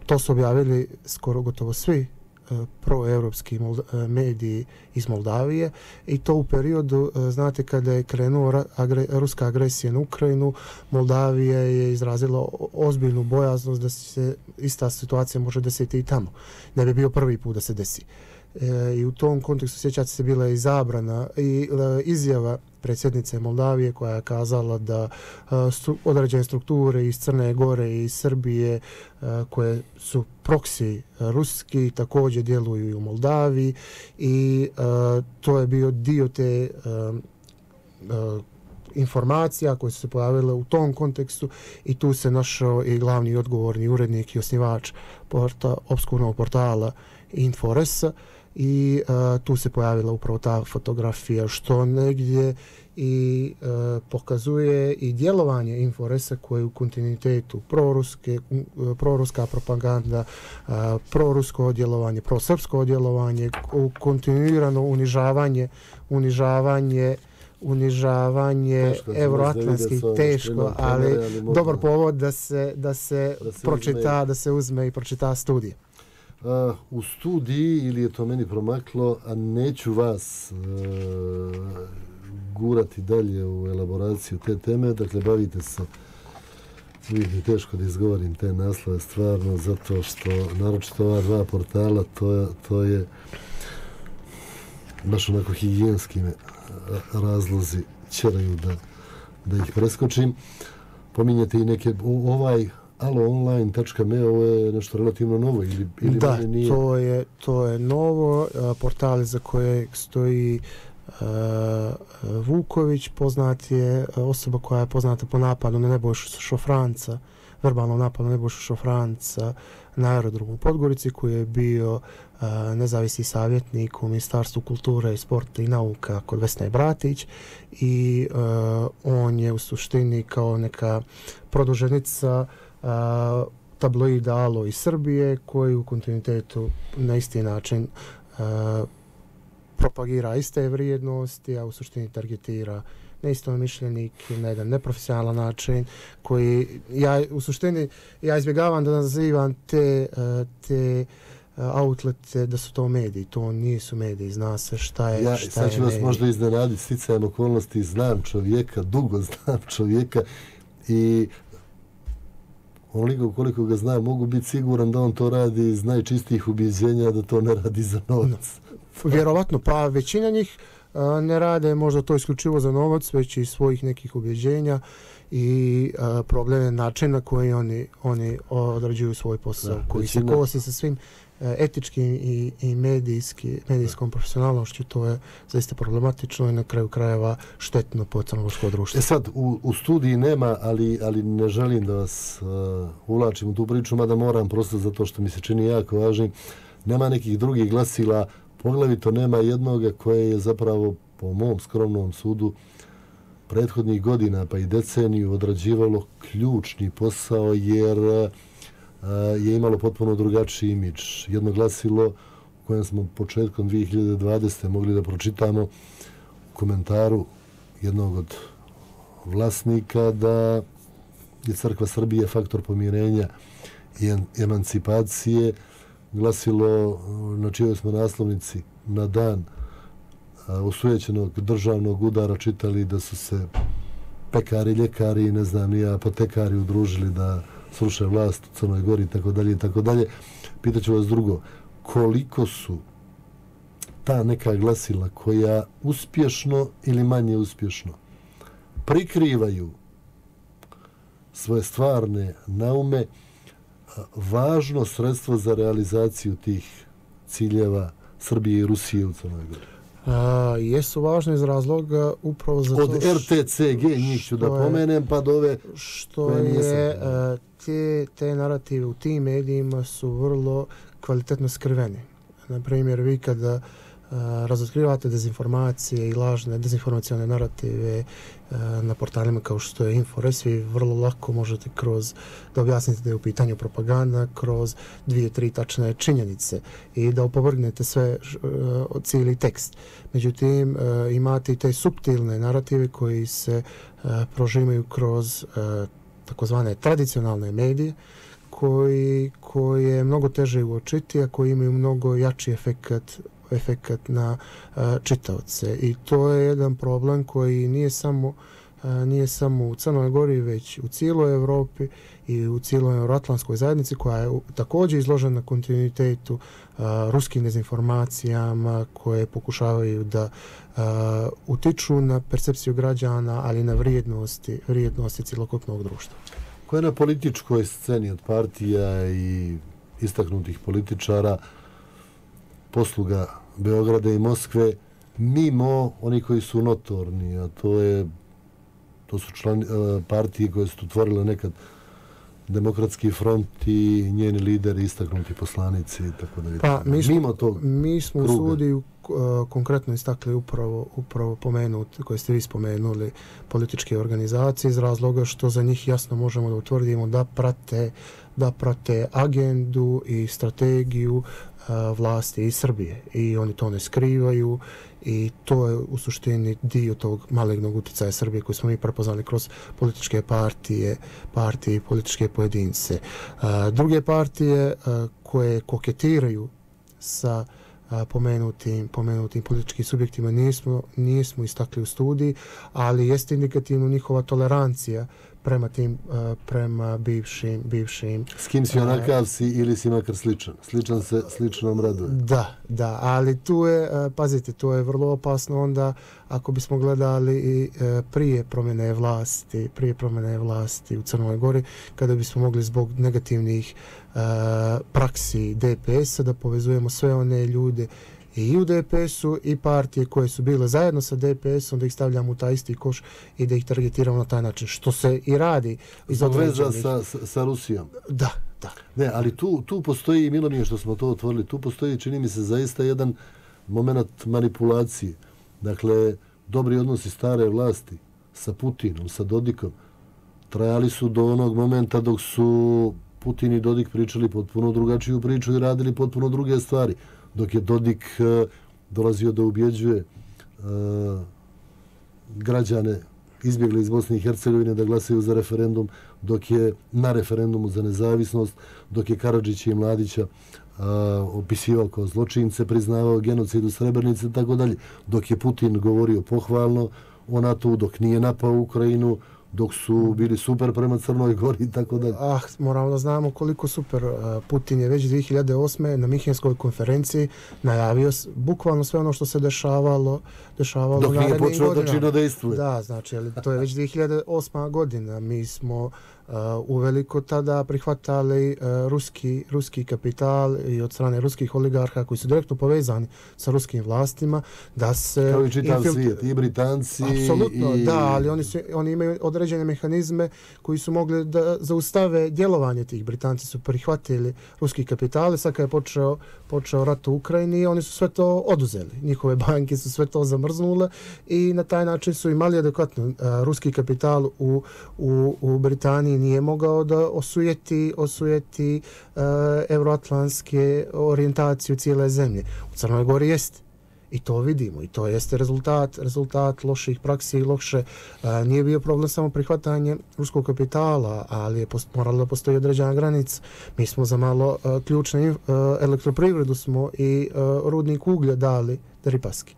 C: to su objavili skoro gotovo svi uh, proevropski Molda- mediji iz Moldavije i to u periodu, uh, znate, kada je krenuo ra- agre- ruska agresija na Ukrajinu, Moldavija je izrazila o- ozbiljnu bojaznost da se ista situacija može desiti i tamo. Ne bi bio prvi put da se desi. E, I u tom kontekstu sjećate se bila je i zabrana i e, izjava predsjednice Moldavije koja je kazala da e, stru, određene strukture iz Crne Gore i iz Srbije e, koje su proksi ruski također djeluju i u Moldaviji i e, to je bio dio te e, e, informacija koje su se pojavile u tom kontekstu i tu se našao i glavni odgovorni urednik i osnivač porta, obskurnog portala Inforesa i uh, tu se pojavila upravo ta fotografija što negdje i uh, pokazuje i djelovanje Inforesa koje je u kontinuitetu proruske, uh, proruska propaganda, uh, prorusko djelovanje, prosrpsko djelovanje, kontinuirano unižavanje, unižavanje unižavanje euroatlantskih, teško, ali, ali dobar povod da se, da se, da se pročita, uzme. da se uzme i pročita studija.
B: Uh, u studiji, ili je to meni promaklo, a neću vas uh, gurati dalje u elaboraciju te teme, dakle bavite se uvijek je teško da izgovorim te naslove stvarno, zato što naročito ova dva portala, to je, to je baš onako higijenski me razlozi ćeraju da, da ih preskočim. Pominjate i neke, ovaj aloonline tačka me, ovo je nešto relativno novo ili, ili
C: da,
B: nije?
C: to je, to je novo, portal za koje stoji uh, Vuković, poznat je osoba koja je poznata po napadu na Nebojšu Šofranca, verbalnom napadu na Nebojšu Šofranca na aerodromu u Podgorici, koji je bio uh, nezavisni savjetnik u Ministarstvu kulture, sporta i nauka kod Vesne Bratić i uh, on je u suštini kao neka produženica uh, tabloida Alo iz Srbije, koji u kontinuitetu na isti način uh, propagira iste vrijednosti, a u suštini targetira neistomišljenike na jedan neprofesionalan način, koji ja u suštini ja izbjegavam da nazivam te, te outlete da su to mediji. To nisu mediji, zna se šta je,
B: ja,
C: šta
B: sad ću
C: je
B: vas
C: medij.
B: možda iznenaditi sticajem okolnosti, znam čovjeka, dugo znam čovjeka i onoliko koliko ga znam, mogu biti siguran da on to radi iz najčistijih ubjeđenja, da to ne radi za novac.
C: Vjerovatno, pa većina njih a, ne rade možda to isključivo za novac, već i svojih nekih ubjeđenja i a, probleme načina na koji oni, oni odrađuju svoj posao,
B: Da,
C: koji
B: većina...
C: se kosi sa svim a, etičkim i, i medijski, medijskom profesionalnošću. To je zaista problematično i na kraju krajeva štetno po crnogorsko društvo.
B: E sad, u, u studiji nema, ali, ali ne želim da vas uh, uvlačim u tu priču, mada moram prosto zato što mi se čini jako važnim. Nema nekih drugih glasila, poglavito nema jednoga koje je zapravo po mom skromnom sudu prethodnih godina pa i deceniju odrađivalo ključni posao jer uh, je imalo potpuno drugačiji imidž. Jedno glasilo u kojem smo početkom dvije hiljade dvadesete mogli da pročitamo u komentaru jednog od vlasnika da je Crkva Srbije faktor pomirenja i emancipacije, glasilo na čijoj smo naslovnici na dan osujećenog državnog udara čitali da su se pekari, ljekari i ne znam ni apotekari udružili da sruše vlast u Crnoj Gori i tako dalje i tako dalje. Pitaću vas drugo, koliko su ta neka glasila koja uspješno ili manje uspješno prikrivaju svoje stvarne naume važno sredstvo za realizaciju tih ciljeva Srbije i Rusije u Crnoj Gori?
C: A, jesu važne iz razloga upravo zato
B: od R T C G njih ću da pomenem pa do ove
C: što je a, te, te narative u tim medijima su vrlo kvalitetno skriveni. Na primjer, vi kada a, razotkrivate dezinformacije i lažne dezinformacione narative a, na portalima kao što je InfoRes, vi vrlo lako možete kroz da objasnite da je u pitanju propaganda, kroz dvije, tri tačne činjenice i da opovrgnete sve uh, cijeli tekst. Međutim, uh, imate i te suptilne narative koji se uh, prožimaju kroz uh, takozvane tradicionalne medije koji, koji je mnogo teže uočiti, a koji imaju mnogo jači efekat efekat na uh, čitaoce. I to je jedan problem koji nije samo nije samo u Crnoj Gori, već u cijeloj Evropi i u cijeloj euroatlantskoj zajednici koja je također izložena kontinuitetu a, ruskim dezinformacijama koje pokušavaju da a, utiču na percepciju građana, ali na vrijednosti, vrijednosti cjelokupnog društva.
B: Koja je na političkoj sceni od partija i istaknutih političara posluga Beograda i Moskve mimo oni koji su notorni, a to je to su člani, partije koje su otvorile nekad Demokratski front i njeni lideri, istaknuti poslanici i tako da.
C: Pa, mi smo,
B: mimo tog
C: mi smo u
B: kruga.
C: studiju uh, konkretno istakli upravo, upravo pomenuti, koje ste vi spomenuli, političke organizacije iz razloga što za njih jasno možemo da utvrdimo da prate, da prate agendu i strategiju uh, vlasti iz Srbije i oni to ne skrivaju i to je u suštini dio tog malignog utjecaja Srbije koji smo mi prepoznali kroz političke partije, partije i političke pojedince. Uh, druge partije uh, koje koketiraju sa a, pomenutim, pomenutim političkim subjektima nismo, nismo istakli u studiji, ali jeste indikativno njihova tolerancija prema tim, prema bivšim, bivšim...
B: S kim si onakav si ili si makar sličan? Sličan se sličnom raduje.
C: Da, da, ali tu je, pazite, to je vrlo opasno onda ako bismo gledali i prije promjene vlasti, prije promjene vlasti u Crnoj Gori, kada bismo mogli zbog negativnih praksi D P S-a da povezujemo sve one ljude i u D P S-u i partije koje su bile zajedno sa D P S-om, da ih stavljamo u taj isti koš i da ih targetiramo na taj način, što se i radi.
B: Veza sa, sa, sa Rusijom.
C: Da, da.
B: Ne, ali tu, tu postoji, milo mi je što smo to otvorili, tu postoji, čini mi se, zaista jedan moment manipulacije. Dakle, dobri odnosi stare vlasti sa Putinom, sa Dodikom, trajali su do onog momenta dok su Putin i Dodik pričali potpuno drugačiju priču i radili potpuno druge stvari. Dok je Dodik uh, dolazio da ubjeđuje uh, građane izbjegli iz Bosne i Hercegovine da glasaju za referendum, dok je na referendumu za nezavisnost, dok je Karadžića i Mladića uh, opisivao kao zločince, priznavao genocid u Srebrenici i tako dalje, dok je Putin govorio pohvalno o NATO, dok nije napao Ukrajinu, dok su bili super prema Crnoj Gori i tako dalje.
C: Ah, moramo da znamo koliko super. Putin je već dvije hiljade osme na Minhenskoj konferenciji najavio bukvalno sve ono što se dešavalo, dešavalo
B: dok nije počeo da čino dejstvuje.
C: Da, znači, to je već dvije hiljade osma godina. Mi smo uh, uveliko tada prihvatali uh, ruski, ruski kapital i od strane ruskih oligarha koji su direktno povezani sa ruskim vlastima, da se...
B: Kao i čitav infiltr... svijet, i Britanci...
C: Apsolutno,
B: i...
C: da, ali oni, su, oni imaju određene mehanizme koji su mogli da zaustave djelovanje tih. Britanci su prihvatili ruski kapital, sad kad je počeo, počeo rat u Ukrajini, oni su sve to oduzeli. Njihove banke su sve to zamrznule i na taj način su imali adekvatno. Uh, ruski kapital u, u, u Britaniji nije mogao da osujeti, osujeti uh, euroatlantske orijentacije cijele zemlje. U Crnoj Gori jeste. I to vidimo. I to jeste rezultat, rezultat loših praksi i loše. Uh, nije bio problem samo prihvatanje ruskog kapitala, ali je post, moralo da postoji određena granica. Mi smo za malo uh, ključne uh, elektroprivredu smo i uh, rudnik uglja dali Deripaski.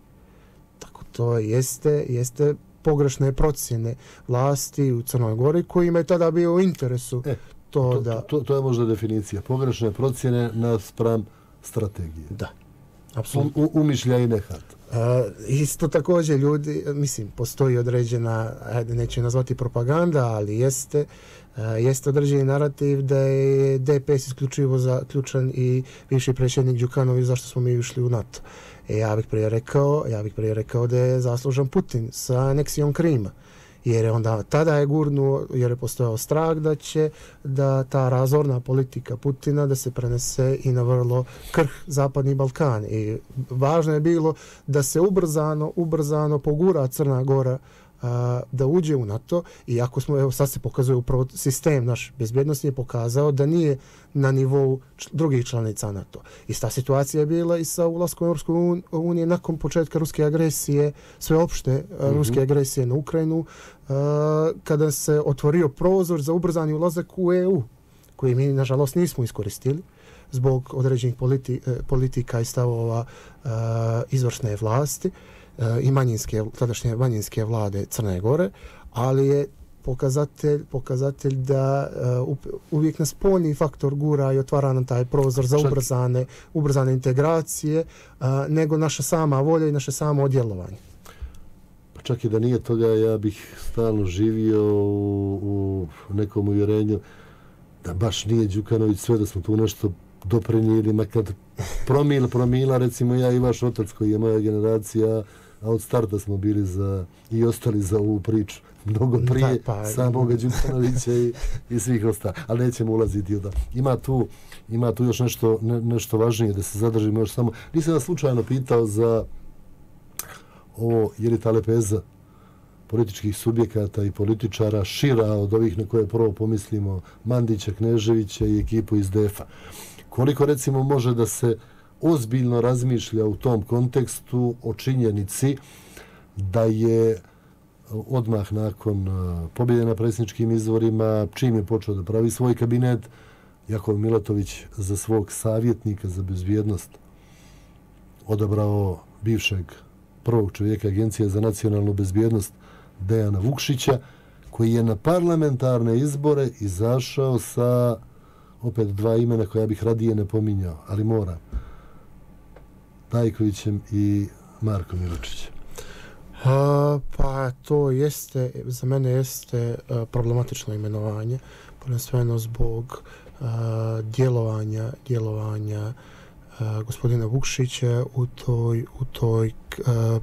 C: Tako to jeste, jeste pogrešne procjene vlasti u Crnoj Gori kojima je tada bio u interesu
B: e,
C: to,
B: to
C: da...
B: To, to je možda definicija. Pogrešne procjene naspram strategije.
C: Da, apsolutno.
B: U, umišlja i nehat.
C: Uh, isto također ljudi, mislim, postoji određena, ajde, neću nazvati propaganda, ali jeste, uh, jeste određeni narativ da je D P S isključivo zaključan i bivši predsjednik Đukanović zašto smo mi ušli u NATO. E, ja bih prije rekao, ja bih prije rekao da je zaslužan Putin sa aneksijom Krima. Jer je onda tada je gurnuo, jer je postojao strah da će da ta razorna politika Putina da se prenese i na vrlo krh Zapadni Balkan. I važno je bilo da se ubrzano, ubrzano pogura Crna Gora a, da uđe u NATO, iako smo, evo sad se pokazuje upravo sistem naš bezbjednosti je pokazao da nije na nivou č- drugih članica NATO. Ista situacija je bila i sa ulaskom u Europsku uniju nakon početka ruske agresije, sveopšte mm-hmm. ruske agresije na Ukrajinu, a, kada se otvorio prozor za ubrzani ulazak u E U, koji mi nažalost nismo iskoristili zbog određenih politi- politika i stavova a, izvršne vlasti i manjinske, tadašnje manjinske vlade Crne Gore, ali je pokazatelj, pokazatelj da uh, uvijek nas spoljni faktor gura i otvara nam taj prozor za ubrzane, ubrzane integracije, uh, nego naša sama volja i naše samo odjelovanje.
B: Pa čak i da nije toga, ja bih stalno živio u, u nekom uvjerenju da baš nije Đukanović sve, da smo tu nešto doprinijeli, makar promil, promila, recimo ja i vaš otac koji je moja generacija, a od starta smo bili za i ostali za ovu priču mnogo prije da, pa, samoga Đukanovića i, i svih ostalih. Ali nećemo ulaziti u da. Ima tu, ima tu još nešto, ne, nešto važnije da se zadržimo još samo. Nisam vas slučajno pitao za ovo, je li ta lepeza političkih subjekata i političara šira od ovih na koje prvo pomislimo Mandića, Kneževića i ekipu iz D E F-a. Koliko recimo može da se ozbiljno razmišlja u tom kontekstu o činjenici da je odmah nakon pobjede na predsjedničkim izborima, čim je počeo da pravi svoj kabinet, Jakov Milatović za svog savjetnika za bezbjednost odabrao bivšeg prvog čovjeka Agencije za nacionalnu bezbjednost Dejana Vukšića, koji je na parlamentarne izbore izašao sa opet dva imena koja bih radije ne pominjao, ali moram. Tajkovićem i Markom Miločićem.
C: A, pa to jeste, za mene jeste a, problematično imenovanje, prvenstveno zbog a, djelovanja, djelovanja a, gospodina Vukšića u toj, u toj a,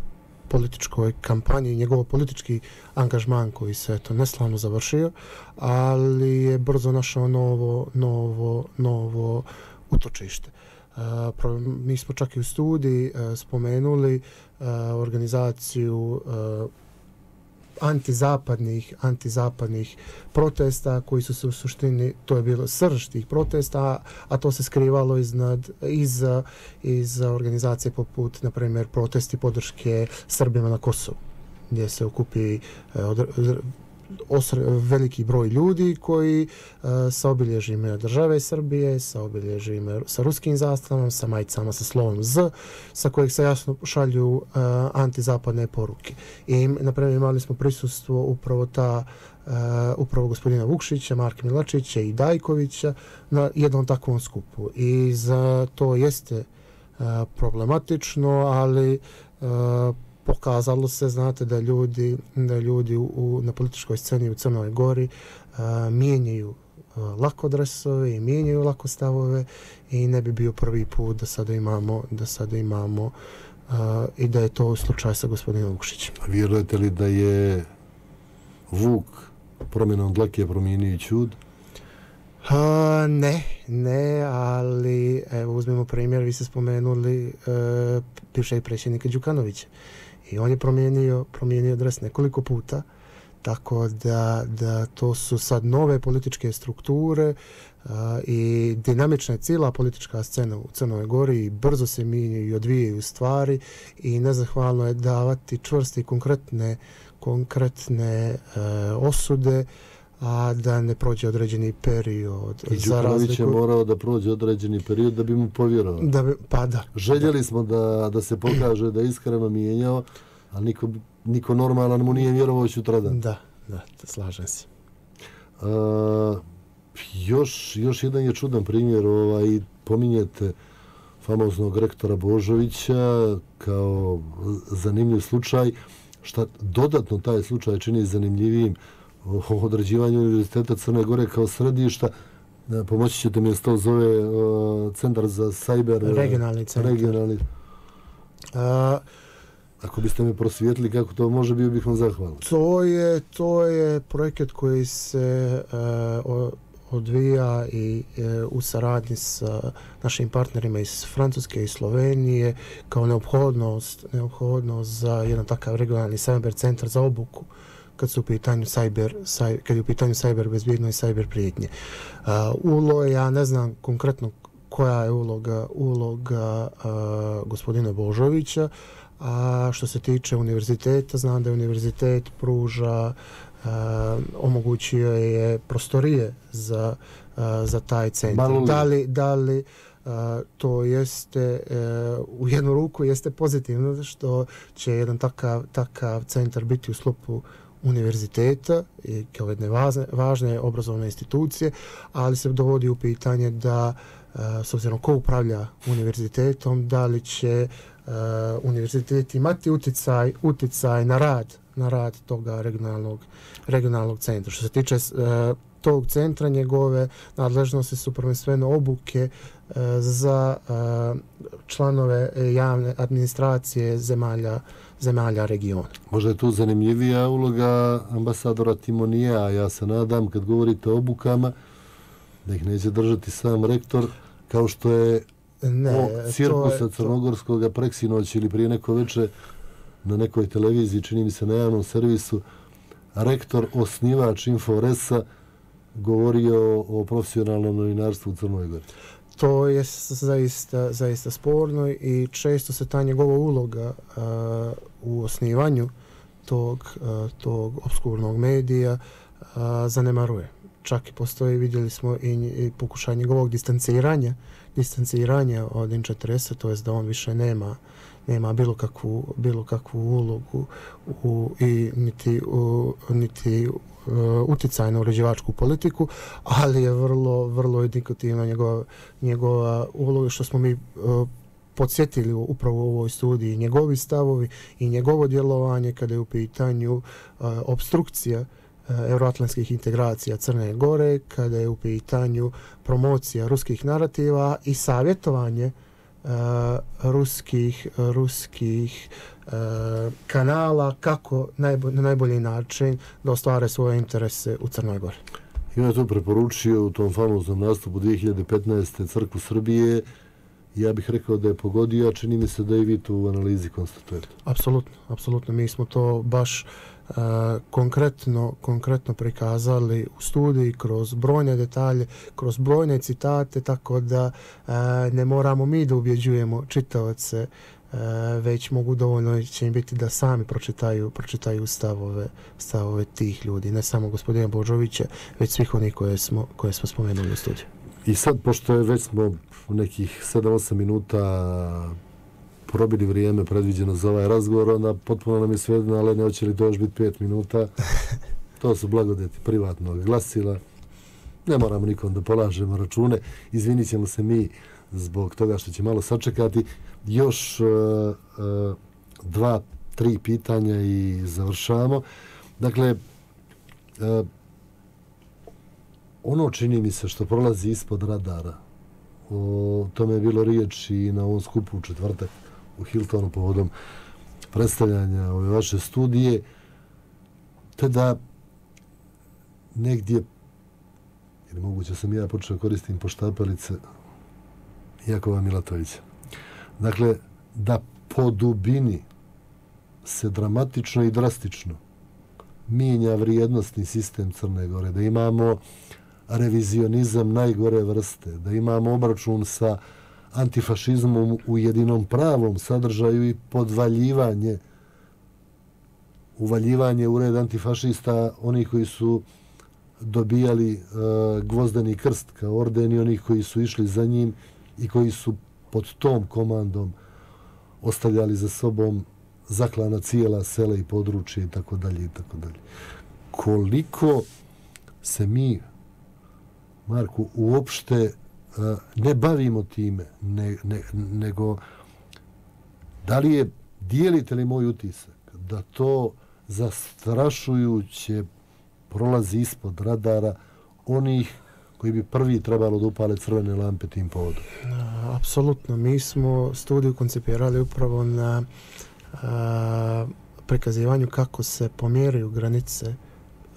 C: političkoj kampanji, njegov politički angažman koji se eto neslavno završio, ali je brzo našao novo, novo, novo utočište. Uh, mi smo čak i u studiji uh, spomenuli uh, organizaciju uh, antizapadnih, antizapadnih protesta koji su se u suštini, to je bilo srž tih protesta, a to se skrivalo iznad, iz, iz organizacije poput, na primjer, protesti podrške Srbima na Kosovu, gdje se okupi uh, od, Osr, veliki broj ljudi koji uh, sa obilježjima države Srbije, sa obilježjima sa ruskim zastavom, sa majicama sa slovom Z, sa kojeg se jasno šalju uh, antizapadne poruke. I, naprimjer, imali smo prisustvo upravo ta uh, upravo gospodina Vukšića, Marka Milačića i Dajkovića na jednom takvom skupu. I za to jeste uh, problematično, ali uh, pokazalo se, znate, da ljudi, da ljudi u, na političkoj sceni u Crnoj Gori uh, mijenjaju uh, lako dresove i mijenjaju lako stavove i ne bi bio prvi put da sada imamo, da sada imamo uh, i da je to slučaj sa gospodinom Vukšićem.
B: Vjerujete li da je Vuk promjenom dlake promijenio ćud?
C: Uh, ne, ne, ali evo uzmemo primjer, vi ste spomenuli uh, bivšeg predsjednika Đukanovića. I on je promijenio, promijenio dres nekoliko puta, tako da, da to su sad nove političke strukture uh, i dinamična je cijela politička scena u Crnoj Gori i brzo se mijenjaju i odvijaju stvari i nezahvalno je davati čvrste i konkretne, konkretne uh, osude, a da ne prođe određeni period.
B: I Đukanović je morao da prođe određeni period da bi mu povjerovao.
C: Da bi, pa da.
B: Željeli
C: da.
B: smo da, da se pokaže da je iskreno mijenjao, ali niko, niko normalan mu nije vjerovao sutradan.
C: Da, da, slažem se.
B: A, još, još jedan je čudan primjer, ovaj, pominjete famoznog rektora Božovića kao zanimljiv slučaj, šta dodatno taj slučaj čini zanimljivijim o određivanju Univerziteta Crne Gore kao središta. Pomoći ćete mi, to zove uh, Centar za sajber...
C: Regionalni centar.
B: Regionalni. Uh, Ako biste me prosvijetili kako to može, bio bih vam zahvalan.
C: To je, to je projekat koji se uh, odvija i uh, u saradnji sa našim partnerima iz Francuske i Slovenije kao neophodnost, neophodnost za jedan takav regionalni sajber centar za obuku kad su u pitanju sajber, saj, kad je u pitanju sajber bezbjedno i sajber prijetnje. Uh, ulo, ja ne znam konkretno koja je uloga, uloga uh, gospodina Božovića, a što se tiče univerziteta, znam da je univerzitet pruža, uh, omogućio je prostorije za, uh, za taj centar. Da li, da li Uh, to jeste uh, u jednu ruku jeste pozitivno što će jedan takav, takav centar biti u sklopu univerziteta i kao jedne važne, važne obrazovne institucije, ali se dovodi u pitanje da uh, s obzirom ko upravlja univerzitetom, da li će uh, univerzitet imati uticaj, uticaj na rad, na rad toga regionalnog, regionalnog centra. Što se tiče uh, tog centra, njegove nadležnosti su prvenstveno obuke uh, za uh, članove javne administracije zemalja zemalja regiona.
B: Možda je tu zanimljivija uloga ambasadora Timonija, a ja se nadam kad govorite o obukama da ih neće držati sam rektor, kao što je
C: ne,
B: cirkusa crnogorskog preksinoć ili prije neko veče na nekoj televiziji, čini mi se na javnom servisu, rektor, osnivač Inforesa govorio o profesionalnom novinarstvu u Crnoj Gori.
C: To je zaista, zaista sporno i često se ta njegova uloga uh, u osnivanju tog, uh, tog obskurnog medija uh, zanemaruje. Čak i postoji, vidjeli smo i, i pokušaj njegovog distanciranja, distanciranja od N četrdeset, to jest da on više nema, nema bilo kakvu, bilo kakvu ulogu u, i niti, u, niti uh, utjecaj na uređivačku politiku, ali je vrlo, vrlo indikativna njegova, njegova uloga, što smo mi uh, podsjetili upravo u ovoj studiji, njegovi stavovi i njegovo djelovanje kada je u pitanju uh, obstrukcija uh, euroatlantskih integracija Crne Gore, kada je u pitanju promocija ruskih narativa i savjetovanje uh, ruskih, ruskih uh, kanala kako najbo, na najbolji način da ostvare svoje interese u Crnoj Gori.
B: I on je to preporučio u tom famoznom nastupu dvije hiljade petnaeste. Crkvu Srbije. Ja bih rekao da je pogodio, a čini mi se da i vi to u analizi konstatujete.
C: Apsolutno, apsolutno. Mi smo to baš uh, konkretno, konkretno prikazali u studiji kroz brojne detalje, kroz brojne citate, tako da uh, ne moramo mi da ubjeđujemo čitaoce, uh, već mogu dovoljno će im biti da sami pročitaju, pročitaju stavove, stavove tih ljudi, ne samo gospodina Božovića, već svih onih koje smo, koje smo spomenuli u studiju.
B: I sad, pošto je već smo nekih sedam osam minuta probili vrijeme predviđeno za ovaj razgovor, onda potpuno nam je svejedno, ali ne hoće li to još biti pet minuta. To su blagodeti privatnog glasila. Ne moramo nikom da polažemo račune. Izvinit ćemo se mi zbog toga što će malo sačekati. Još uh, uh, dva, tri pitanja i završamo. Dakle, uh, ono čini mi se što prolazi ispod radara, o tome je bilo riječ i na ovom skupu u četvrtak u Hiltonu povodom predstavljanja ove vaše studije, te da negdje, ili moguće sam ja počeo koristim poštapalice Jakova Milatovića, dakle, da po dubini se dramatično i drastično mijenja vrijednostni sistem Crne Gore, da imamo revizionizam najgore vrste, da imamo obračun sa antifašizmom u jedinom pravom sadržaju i podvaljivanje, uvaljivanje u red antifašista, onih koji su dobijali uh, gvozdeni krst kao orden i onih koji su išli za njim i koji su pod tom komandom ostavljali za sobom zaklana cijela sela i područje i tako dalje i tako dalje. Koliko se mi, Marku, uopšte uh, ne bavimo time, ne, ne, nego da li je, dijelite li moj utisak da to zastrašujuće prolazi ispod radara onih koji bi prvi trebalo da upale crvene lampe tim povodom?
C: Apsolutno. Mi smo studiju koncipirali upravo na a, prikazivanju kako se pomjeraju granice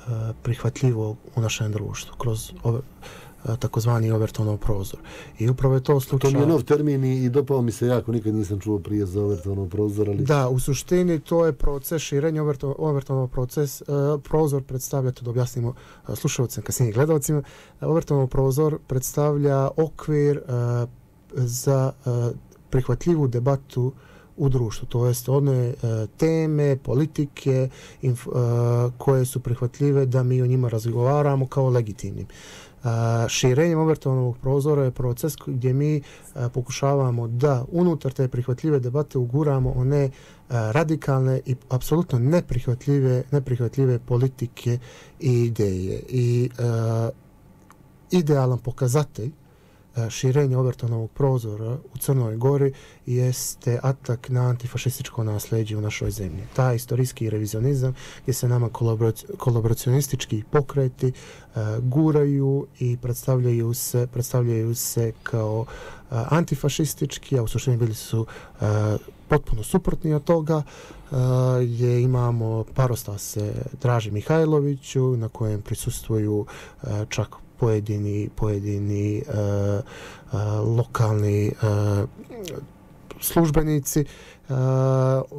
C: a, prihvatljivog u našem društvu kroz ove, a, takozvani Overtonov prozor. I upravo je to slučaj...
B: To mi je nov termin i dopao mi se jako, nikad nisam čuo prije za Overtonov prozor, ali...
C: Da, u suštini to je proces širenja Overton, Overtonov proces. Uh, prozor predstavlja, to da objasnimo uh, slušalcima, kasnije gledalcima, Overtonov prozor predstavlja okvir uh, za uh, prihvatljivu debatu u društvu, to jest one uh, teme, politike inf, uh, koje su prihvatljive da mi o njima razgovaramo kao legitimnim. Uh, širenjem Overtonovog prozora je proces gdje mi uh, pokušavamo da unutar te prihvatljive debate uguramo one uh, radikalne i apsolutno neprihvatljive, neprihvatljive politike i ideje. I uh, idealan pokazatelj širenje Overtonovog prozora u Crnoj Gori jeste atak na antifašističko nasljeđe u našoj zemlji. Taj istorijski revizionizam gdje se nama kolaboracionistički pokreti uh, guraju i predstavljaju se, predstavljaju se kao uh, antifašistički, a u suštini bili su uh, potpuno suprotni od toga. Uh, je imamo parostase Draži Mihajloviću na kojem prisustvuju uh, čak pojedini pojedini uh, uh, lokalni uh, službenici. Uh,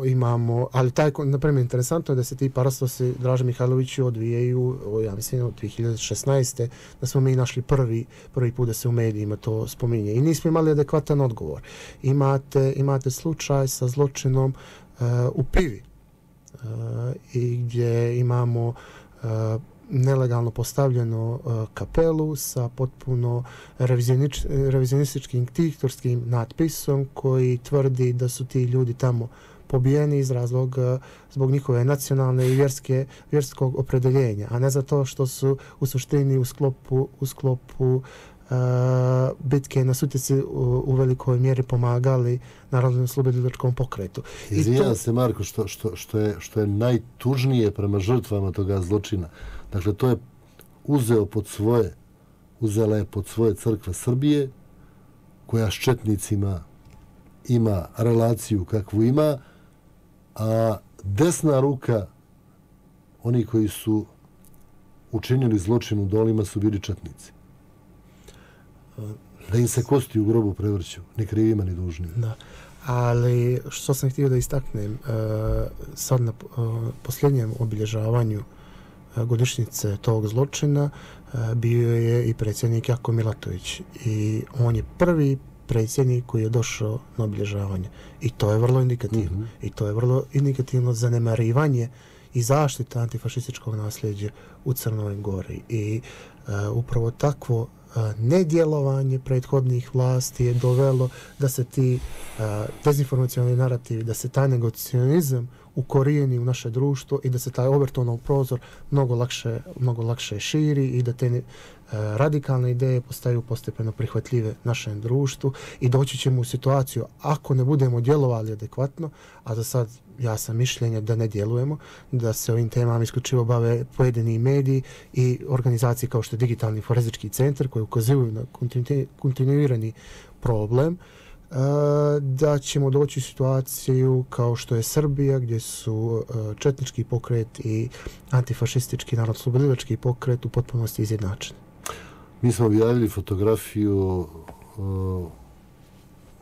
C: imamo, ali taj, na primjer, interesantno je da se ti parastasi Draže Mihajloviću odvijaju, ja mislim, od dvije hiljade šesnaeste da smo mi našli prvi, prvi put da se u medijima to spominje. I nismo imali adekvatan odgovor. Imate, imate slučaj sa zločinom uh, u Pivi uh, i gdje imamo uh, nelegalno postavljeno uh, kapelu sa potpuno revizionističkim diktorskim natpisom koji tvrdi da su ti ljudi tamo pobijeni iz razloga zbog njihove nacionalne i vjerske, vjerskog opredeljenja, a ne zato što su u suštini u sklopu, u sklopu Uh, bitke na Sutjeci u, u velikoj mjeri pomagali Narodno-oslobodilačkom pokretu.
B: Izvinjam to... se, Marko, što, što, što, je, što je najtužnije prema žrtvama toga zločina. Dakle, to je uzeo pod svoje, uzela je pod svoje crkve Srbije, koja s četnicima ima relaciju kakvu ima, a desna ruka, oni koji su učinili zločin u Dolima, su bili četnici. Da im se kosti u grobu prevrću, ni krivima ni dužnima.
C: Da. Ali što sam htio da istaknem, uh, sad na uh, posljednjem obilježavanju uh, godišnjice tog zločina uh, bio je i predsjednik Jako Milatović. I on je prvi predsjednik koji je došao na obilježavanje. I to je vrlo indikativno. Mm-hmm. I to je vrlo indikativno zanemarivanje i zaštita antifašističkog nasljeđa u Crnoj Gori. I uh, upravo takvo nedjelovanje prethodnih vlasti je dovelo da se ti uh, dezinformacioni narativi, da se taj negacionizam ukorijeni u naše društvo i da se taj Overtonov prozor mnogo lakše, mnogo lakše širi i da te uh, radikalne ideje postaju postepeno prihvatljive našem društvu i doći ćemo u situaciju, ako ne budemo djelovali adekvatno, a za sad ja sam mišljenja da ne djelujemo, da se ovim temama isključivo bave pojedini mediji i organizacije kao što je Digitalni forenzički centar koji ukazuju na kontinuirani problem, da ćemo doći u situaciju kao što je Srbija, gdje su četnički pokret i antifašistički narodno-oslobodilački pokret u potpunosti izjednačeni.
B: Mi smo objavili fotografiju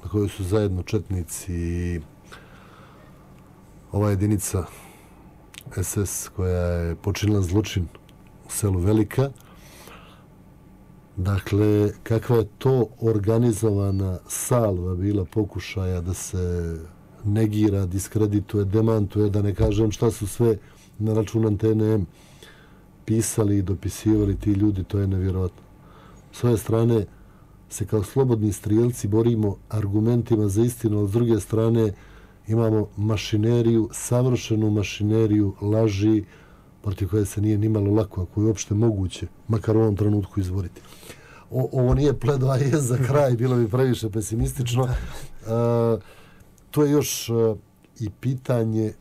B: na kojoj su zajedno četnici i ova jedinica es es koja je počinila zločin u selu Velika. Dakle, kakva je to organizovana salva bila pokušaja da se negira, diskredituje, demantuje, da ne kažem šta su sve na račun Antene M pisali i dopisivali ti ljudi, to je nevjerojatno. S ove strane se kao slobodni strijelci borimo argumentima za istinu, ali s druge strane imamo mašineriju, savršenu mašineriju laži protiv koje se nije nimalo lako, ako je uopšte moguće, makar u ovom trenutku izboriti. O, ovo nije pledoaje za kraj, bilo bi previše pesimistično. Uh, to je još uh, i pitanje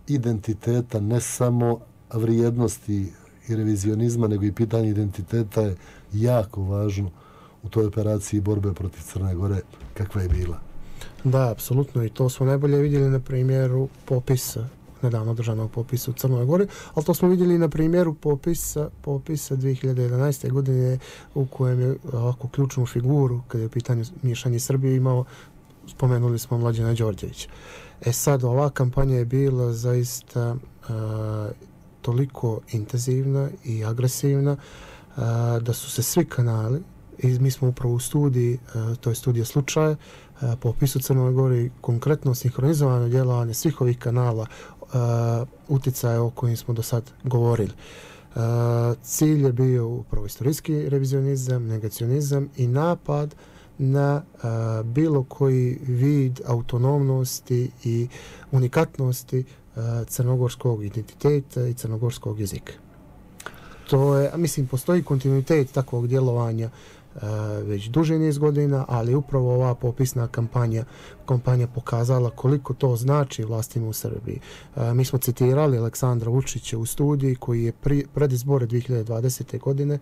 B: identiteta, ne samo vrijednosti i revizionizma, nego i pitanje identiteta je jako važno u toj operaciji borbe protiv Crne Gore, kakva je bila.
C: Da, apsolutno, i to smo najbolje vidjeli na primjeru popisa, nedavno održanog popisa u Crnoj Gori, ali to smo vidjeli na primjeru popisa, popisa dvije hiljade jedanaeste. godine u kojem je ovako ključnu figuru, kada je u pitanju miješanje Srbije imao, spomenuli smo Mlađana Đorđevića. E sad, ova kampanja je bila zaista a, toliko intenzivna i agresivna a, da su se svi kanali, i mi smo upravo u studiji, a, to je studija slučaja, a, po opisu Crnoj Gori, konkretno sinhronizovano djelovanje svih ovih kanala, a, utjecaje o kojim smo do sad govorili. A, cilj je bio upravo istorijski revizionizam, negacionizam i napad na a, bilo koji vid autonomnosti i unikatnosti a, crnogorskog identiteta i crnogorskog jezika. To je, mislim, postoji kontinuitet takvog djelovanja uh, već duži niz godina, ali upravo ova popisna kampanja, kampanja pokazala koliko to znači vlastima u Srbiji. Uh, mi smo citirali Aleksandra Vučića u studiji koji je pri, pred izbore dvije hiljade dvadesete. godine,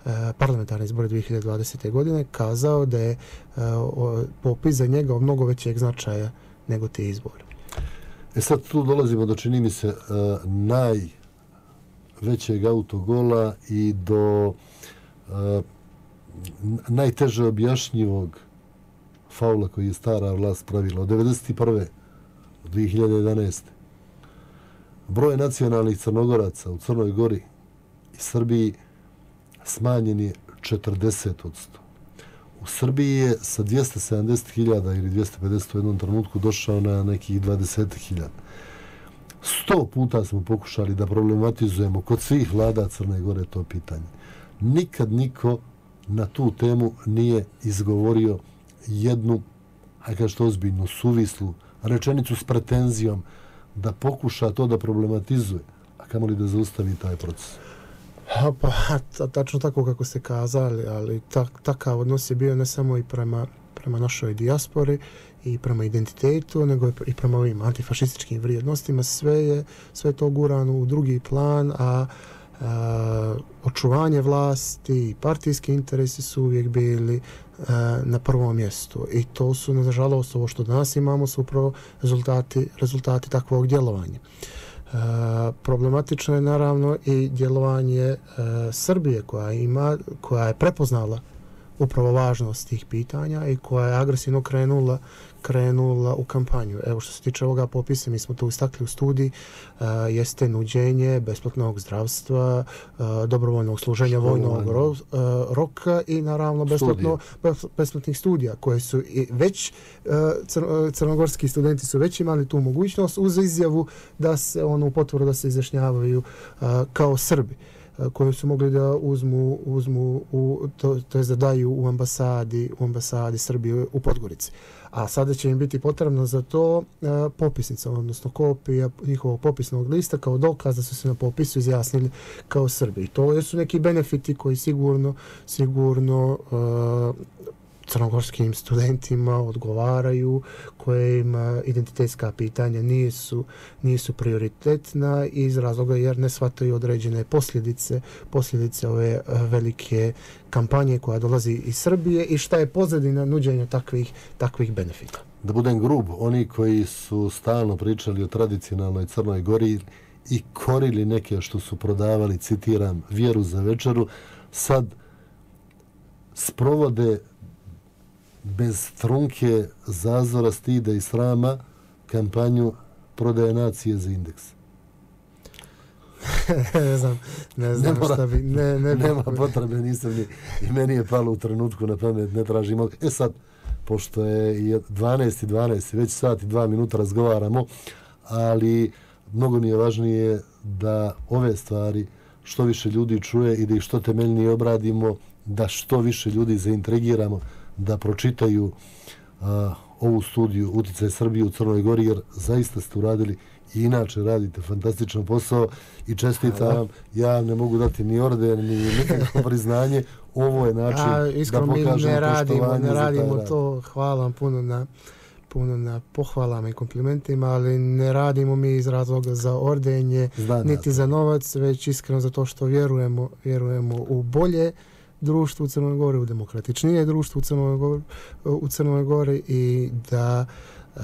C: uh, parlamentarne izbore dvije hiljade dvadesete. godine, kazao da je uh, popis za njega od mnogo većeg značaja nego te izbore.
B: E sad tu dolazimo do, čini mi se, uh, naj većeg autogola i do uh, najteže objašnjivog faula koji je stara vlast pravila. Od devedeset prve do dvije hiljade jedanaeste. Broj nacionalnih Crnogoraca u Crnoj Gori i Srbiji smanjen je četrdeset posto. U Srbiji je sa dvjesto sedamdeset hiljada ili dvjesto pedeset u jednom trenutku došao na nekih dvadeset hiljada. Sto puta smo pokušali da problematizujemo kod svih vlada Crne Gore to pitanje. Nikad niko na tu temu nije izgovorio jednu, hajde kažete ozbiljnu, suvislu rečenicu s pretenzijom da pokuša to da problematizuje, a kamoli da zaustavi taj proces.
C: Ha, pa, tačno tako kako ste kazali, ali tak, takav odnos je bio ne samo i prema, prema našoj dijaspori i prema identitetu, nego i prema ovim antifašističkim vrijednostima. Sve je, sve to gurano u drugi plan, a, a očuvanje vlasti i partijski interesi su uvijek bili a, na prvom mjestu. I to su, nažalost, ovo što danas imamo su upravo rezultati, rezultati takvog djelovanja. Uh, problematično je naravno i djelovanje uh, Srbije koja ima, koja je prepoznala upravo važnost tih pitanja i koja je agresivno krenula, krenula u kampanju. Evo što se tiče ovoga popisa, mi smo to istakli u studiji, uh, jeste nuđenje besplatnog zdravstva, uh, dobrovoljnog služenja vojnog ro, uh, roka i naravno besplatno, besplatnih studija koje su i već uh, cr, crnogorski studenti su već imali tu mogućnost uz izjavu da se ono potvrdu da se izjašnjavaju uh, kao Srbi koju su mogli da uzmu, uzmu u, to, to je da daju u ambasadi, u ambasadi Srbije u Podgorici. A sada će im biti potrebno za to uh, popisnica, odnosno kopija njihovog popisnog lista kao dokaz da su se na popisu izjasnili kao Srbi. I to su neki benefiti koji sigurno, sigurno uh, crnogorskim studentima odgovaraju, kojima identitetska pitanja nisu, nisu prioritetna iz razloga jer ne shvataju određene posljedice, posljedice ove velike kampanje koja dolazi iz Srbije i šta je pozadina nuđenja takvih, takvih benefita.
B: Da budem grub, oni koji su stalno pričali o tradicionalnoj Crnoj Gori i korili neke što su prodavali, citiram, vjeru za večeru, sad sprovode bez trunke, zazora, stida i srama kampanju prodaje nacije za indeks.
C: ne znam, ne znam
B: ne
C: šta bi... Ne, ne
B: nema bi... potrebe, nisam ni... I meni je palo u trenutku na pamet, ne tražimo. E sad, pošto je dvanaest i dvanaest, već sat i dva minuta razgovaramo, ali mnogo mi je važnije da ove stvari što više ljudi čuje i da ih što temeljnije obradimo, da što više ljudi zaintrigiramo da pročitaju a, ovu studiju Uticaj Srbije u Crnoj Gori, jer zaista ste uradili i inače radite fantastičan posao i čestitam vam. Ja ne mogu dati ni orden, ni nikakvo priznanje. Ovo je način A, da pokažemo
C: ne radimo,
B: poštovanje
C: ne radimo
B: za
C: to. Hvala vam puno na, puno na pohvalama i komplimentima, ali ne radimo mi iz razloga za ordenje, Znam niti ja za novac, već iskreno za to što vjerujemo, vjerujemo u bolje društvo u Crnoj Gori, u demokratičnije društvo u Crnoj Gori, u Crnoj Gori i da uh,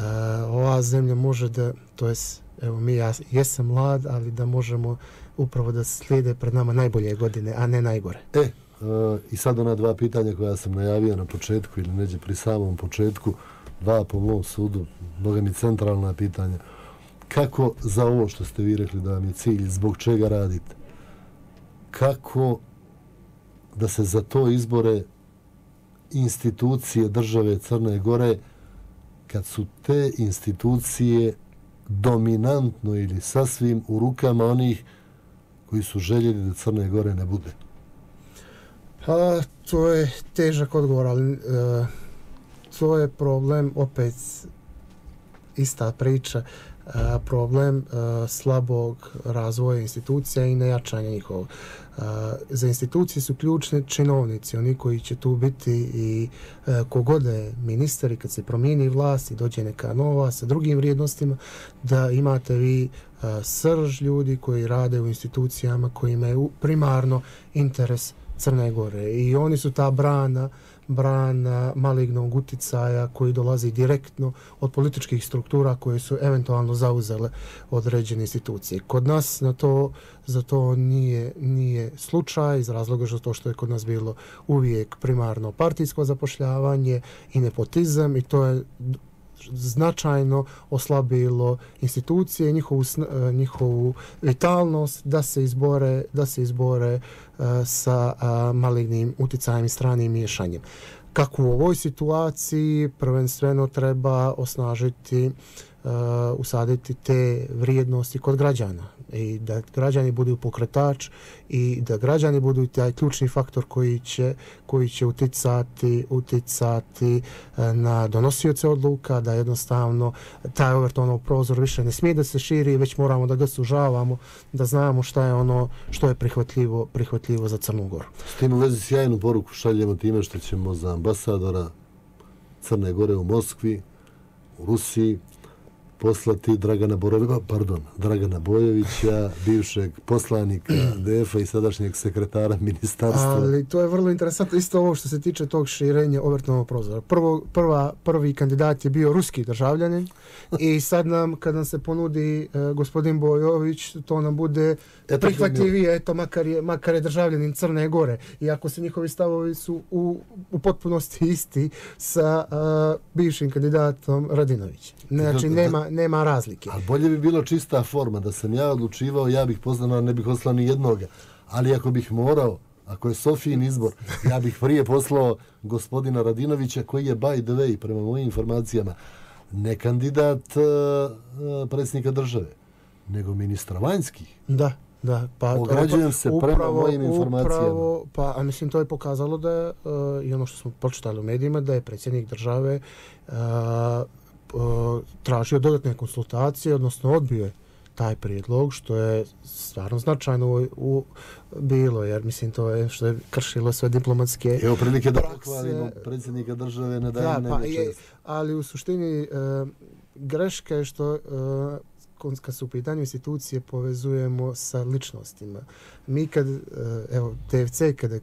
C: ova zemlja može da, to jest, evo mi, ja jesam mlad, ali da možemo upravo da slijede pred nama najbolje godine, a ne najgore.
B: E, uh, i sad ona dva pitanja koja sam najavio na početku ili neđe pri samom početku, dva po mom sudu, mnoga mi centralna pitanja. Kako za ovo što ste vi rekli da vam je cilj, zbog čega radite? Kako da se za to izbore institucije države Crne Gore kad su te institucije dominantno ili sasvim u rukama onih koji su željeli da Crne Gore ne bude?
C: A, to je težak odgovor, ali e, to je problem, opet ista priča, a, problem a, slabog razvoja institucija i nejačanja njihovog. A, za institucije su ključni činovnici, oni koji će tu biti i a, kogode ministar i kad se promijeni vlast i dođe neka nova sa drugim vrijednostima, da imate vi a, srž ljudi koji rade u institucijama koji imaju primarno interes Crne Gore i oni su ta brana brana malignog uticaja koji dolazi direktno od političkih struktura koje su eventualno zauzele određene institucije. Kod nas na to, za to nije, nije slučaj iz razloga što to što je kod nas bilo uvijek primarno partijsko zapošljavanje i nepotizam i to je značajno oslabilo institucije, njihovu, njihovu vitalnost da se izbore, da se izbore uh, sa uh, malignim uticajem i stranim miješanjem. Kako u ovoj situaciji prvenstveno treba osnažiti uh, usaditi te vrijednosti kod građana i da građani budu pokretač i da građani budu taj ključni faktor koji će, koji će uticati, uticati uh, na donosioce odluka, da jednostavno taj Overtonov prozor više ne smije da se širi, već moramo da ga sužavamo, da znamo šta je ono što je prihvatljivo, prihvatljivo za Crnu Goru.
B: S tim u vezi sjajnu poruku šaljemo time što ćemo za ambasadora Crne Gore u Moskvi, u Rusiji, poslati Dragana Borovića, pardon, Dragana Bojovića, bivšeg poslanika D F-a i sadašnjeg sekretara ministarstva.
C: Ali to je vrlo interesantno, isto ovo što se tiče tog širenja Overtonovog prozora. Prvo, prva, prvi kandidat je bio ruski državljanin i sad nam, kad nam se ponudi uh, gospodin Bojović, to nam bude prihvatljivije, eto, makar je, makar je državljanin Crne Gore. Iako se njihovi stavovi su u, u potpunosti isti sa uh, bivšim kandidatom Radinovićem. Znači, nema, nema razlike.
B: Ali bolje bi bilo čista forma, da sam ja odlučivao, ja bih poslao, ne bih poslao ni jednoga. Ali ako bih morao, ako je Sofijin izbor, ja bih prije poslao gospodina Radinovića, koji je, by the way, prema mojim informacijama, ne kandidat uh, predsjednika države, nego ministra vanjskih.
C: Da. Da, pa
B: ograđujem se
C: upravo,
B: prema mojim informacijama.
C: Upravo, pa, a mislim, to je pokazalo da je, uh, i ono što smo pročitali u medijima, da je predsjednik države uh, uh, tražio dodatne konsultacije, odnosno odbio je taj prijedlog, što je stvarno značajno u, u, bilo, jer mislim to je što je kršilo sve diplomatske
B: Evo prilike da pohvalimo predsjednika države na dan
C: da, pa, je, ali u suštini uh, greška je što uh, kad su u pitanju institucije povezujemo sa ličnostima. Mi kad, evo, T F C kada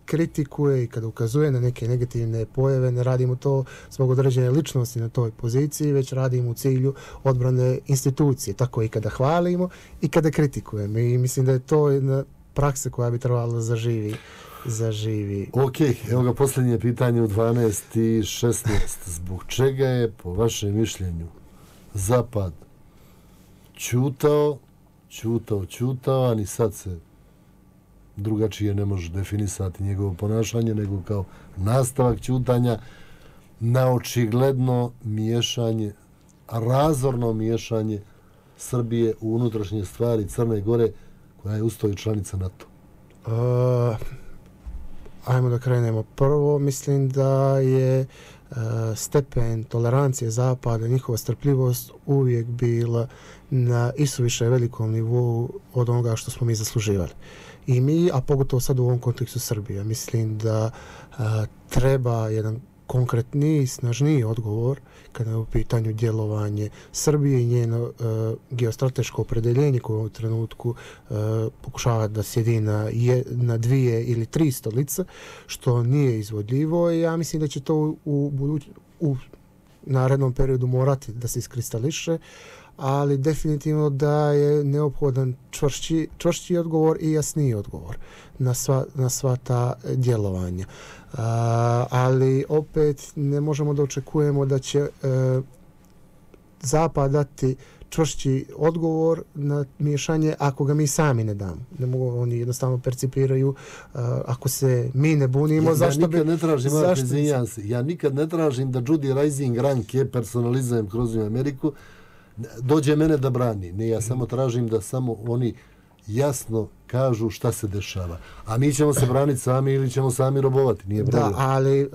C: kritikuje i kada ukazuje na neke negativne pojave, ne radimo to zbog određene ličnosti na toj poziciji, već radimo u cilju odbrane institucije. Tako i kada hvalimo i kada kritikujemo. I mislim da je to jedna praksa koja bi trebala zaživi. zaživi.
B: Ok, evo ga posljednje pitanje u dvanaest i šesnaest. Zbog čega je, po vašem mišljenju, Zapad ćutao, ćutao, ćutao, a ni sad se drugačije ne može definisati njegovo ponašanje, nego kao nastavak ćutanja na očigledno miješanje, razorno miješanje Srbije u unutrašnje stvari Crne Gore, koja je usto i članica NATO.
C: Uh, ajmo da krenemo. Prvo, mislim da je uh, stepen tolerancije Zapada, njihova strpljivost uvijek bila na isuviše velikom nivou od onoga što smo mi zasluživali. I mi, a pogotovo sad u ovom kontekstu Srbije, mislim da a, treba jedan konkretniji, snažniji odgovor kada je u pitanju djelovanje Srbije i njeno a, geostrateško opredeljenje koje u trenutku a, pokušava da sjedi na, je, na dvije ili tri stolice, što nije izvodljivo i ja mislim da će to u, u, buduć, u narednom periodu morati da se iskristališe, ali definitivno da je neophodan čvršći, čvršći odgovor i jasniji odgovor na sva, na sva ta djelovanja. A, ali opet ne možemo da očekujemo da će e, Zapad dati čvršći odgovor na miješanje ako ga mi sami ne damo. Ne mogu, oni jednostavno percipiraju uh, ako se mi ne bunimo,
B: ja,
C: zašto
B: ja
C: bi...
B: nikad ne tražim,
C: zašto bi...
B: se, ja nikad ne tražim da Judy Rising ranke personalizujem kroz Ameriku, dođe mene da brani. Ne, ja samo tražim da samo oni jasno kažu šta se dešava. A mi ćemo se braniti sami ili ćemo sami robovati, nije problem.
C: Da, ali uh,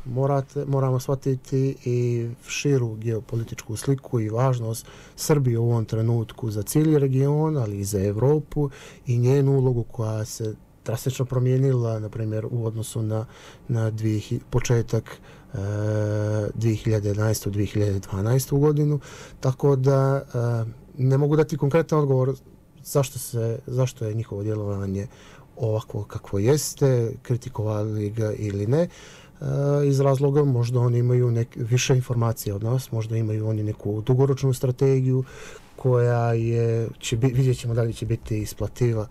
C: morate, moramo shvatiti i širu geopolitičku sliku i važnost Srbije u ovom trenutku za cijeli region, ali i za Evropu i njenu ulogu koja se drastično promijenila, na primjer, u odnosu na, na dvije, početak uh, dvije hiljade jedanaeste. dvije hiljade dvanaeste. godinu. Tako da uh, ne mogu dati konkretan odgovor zašto se zašto je njihovo djelovanje ovako kakvo jeste, kritikovali ga ili ne, e, iz razloga možda oni imaju nek, više informacije od nas, možda imaju oni neku dugoročnu strategiju koja je, će bi, vidjet ćemo da li će biti isplativa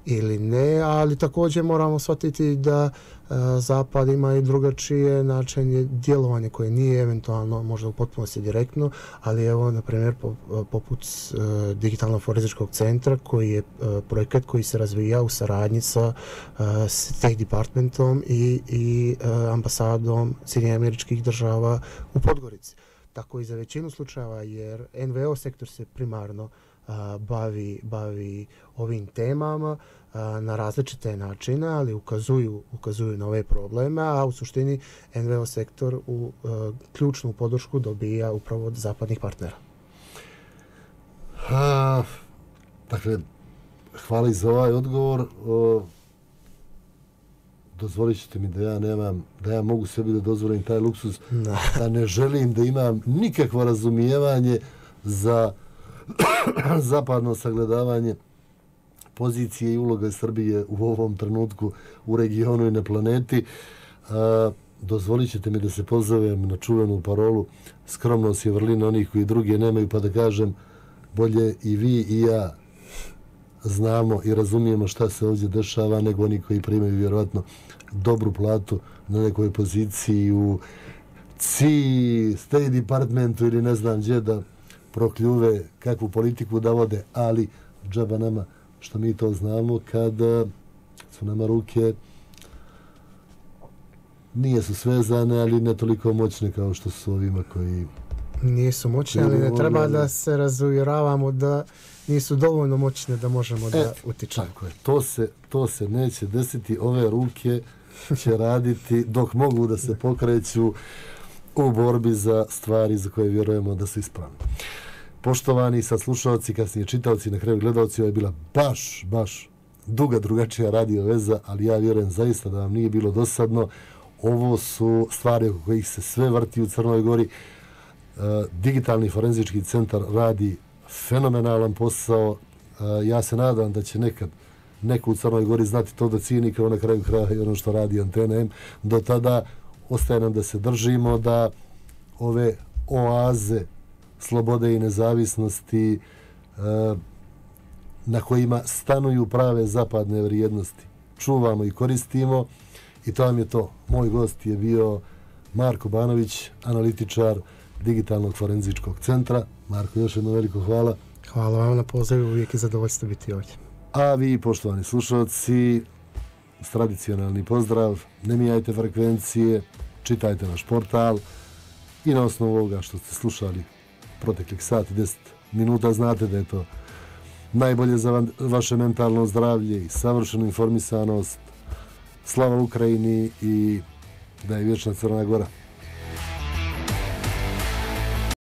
C: ili ne, ali također moramo shvatiti da e, Zapad ima i drugačije načine djelovanja koje nije eventualno možda u potpunosti direktno, ali evo, na primjer, po, poput e, Digitalnog forenzičkog centra koji je e, projekat koji se razvija u saradnji sa e, State Departmentom i, i e, ambasadom Sjedinjenih Američkih Država u Podgorici. tako i za većinu slučajeva, jer N V O sektor se primarno a, bavi, bavi ovim temama a, na različite načine, ali ukazuju, ukazuju na ove probleme, a u suštini N V O sektor u a, ključnu podršku dobija upravo od zapadnih partnera.
B: A, dakle, hvala i za ovaj odgovor. O, dozvolit ćete mi da ja nemam, da ja mogu sebi da dozvolim taj luksuz,
C: Da.
B: da ne želim da imam nikakvo razumijevanje za zapadno sagledavanje pozicije i uloga Srbije u ovom trenutku u regionu i na planeti. A, dozvolit ćete mi da se pozovem na čuvenu parolu skromnost je vrlina onih koji druge nemaju, pa da kažem bolje i vi i ja znamo i razumijemo šta se ovdje dešava nego oni koji primaju vjerojatno dobru platu na nekoj poziciji u C I, State Departmentu ili ne znam gdje da prokljuve kakvu politiku da vode, ali džaba nama što mi to znamo kada su nama ruke nije su svezane, ali ne toliko moćne kao što su ovima koji
C: Nisu moćne, ali ne treba da se razuvjeravamo da nisu dovoljno moćne da možemo da
B: e,
C: utičemo.
B: Tako je, to se, to se neće desiti, ove ruke će raditi dok mogu da se pokreću u borbi za stvari za koje vjerujemo da su ispravne. Poštovani saslušalci, kasnije čitaoci, na kraju gledalci, ovo je bila baš, baš duga drugačija radio veza, ali ja vjerujem zaista da vam nije bilo dosadno. Ovo su stvari oko kojih se sve vrti u Crnoj Gori. Uh, Digitalni forenzički centar radi fenomenalan posao. Uh, ja se nadam da će nekad neko u Crnoj Gori znati to da cijeni kao na kraju kraja i ono što radi Antena M. Do tada ostaje nam da se držimo, da ove oaze slobode i nezavisnosti uh, na kojima stanuju prave zapadne vrijednosti čuvamo i koristimo, i to vam je to. Moj gost je bio Marko Banović, analitičar Digitalnog forenzičkog centra. Marko, još jedno veliko hvala.
C: Hvala vam na pozivu, uvijek je zadovoljstvo biti ovdje.
B: A vi, poštovani slušalci, tradicionalni pozdrav, ne mijajte frekvencije, čitajte naš portal i na osnovu ovoga što ste slušali proteklih sat i deset minuta znate da je to najbolje za vaše mentalno zdravlje i savršenu informisanost. Slava Ukrajini i da je vječna Crna Gora.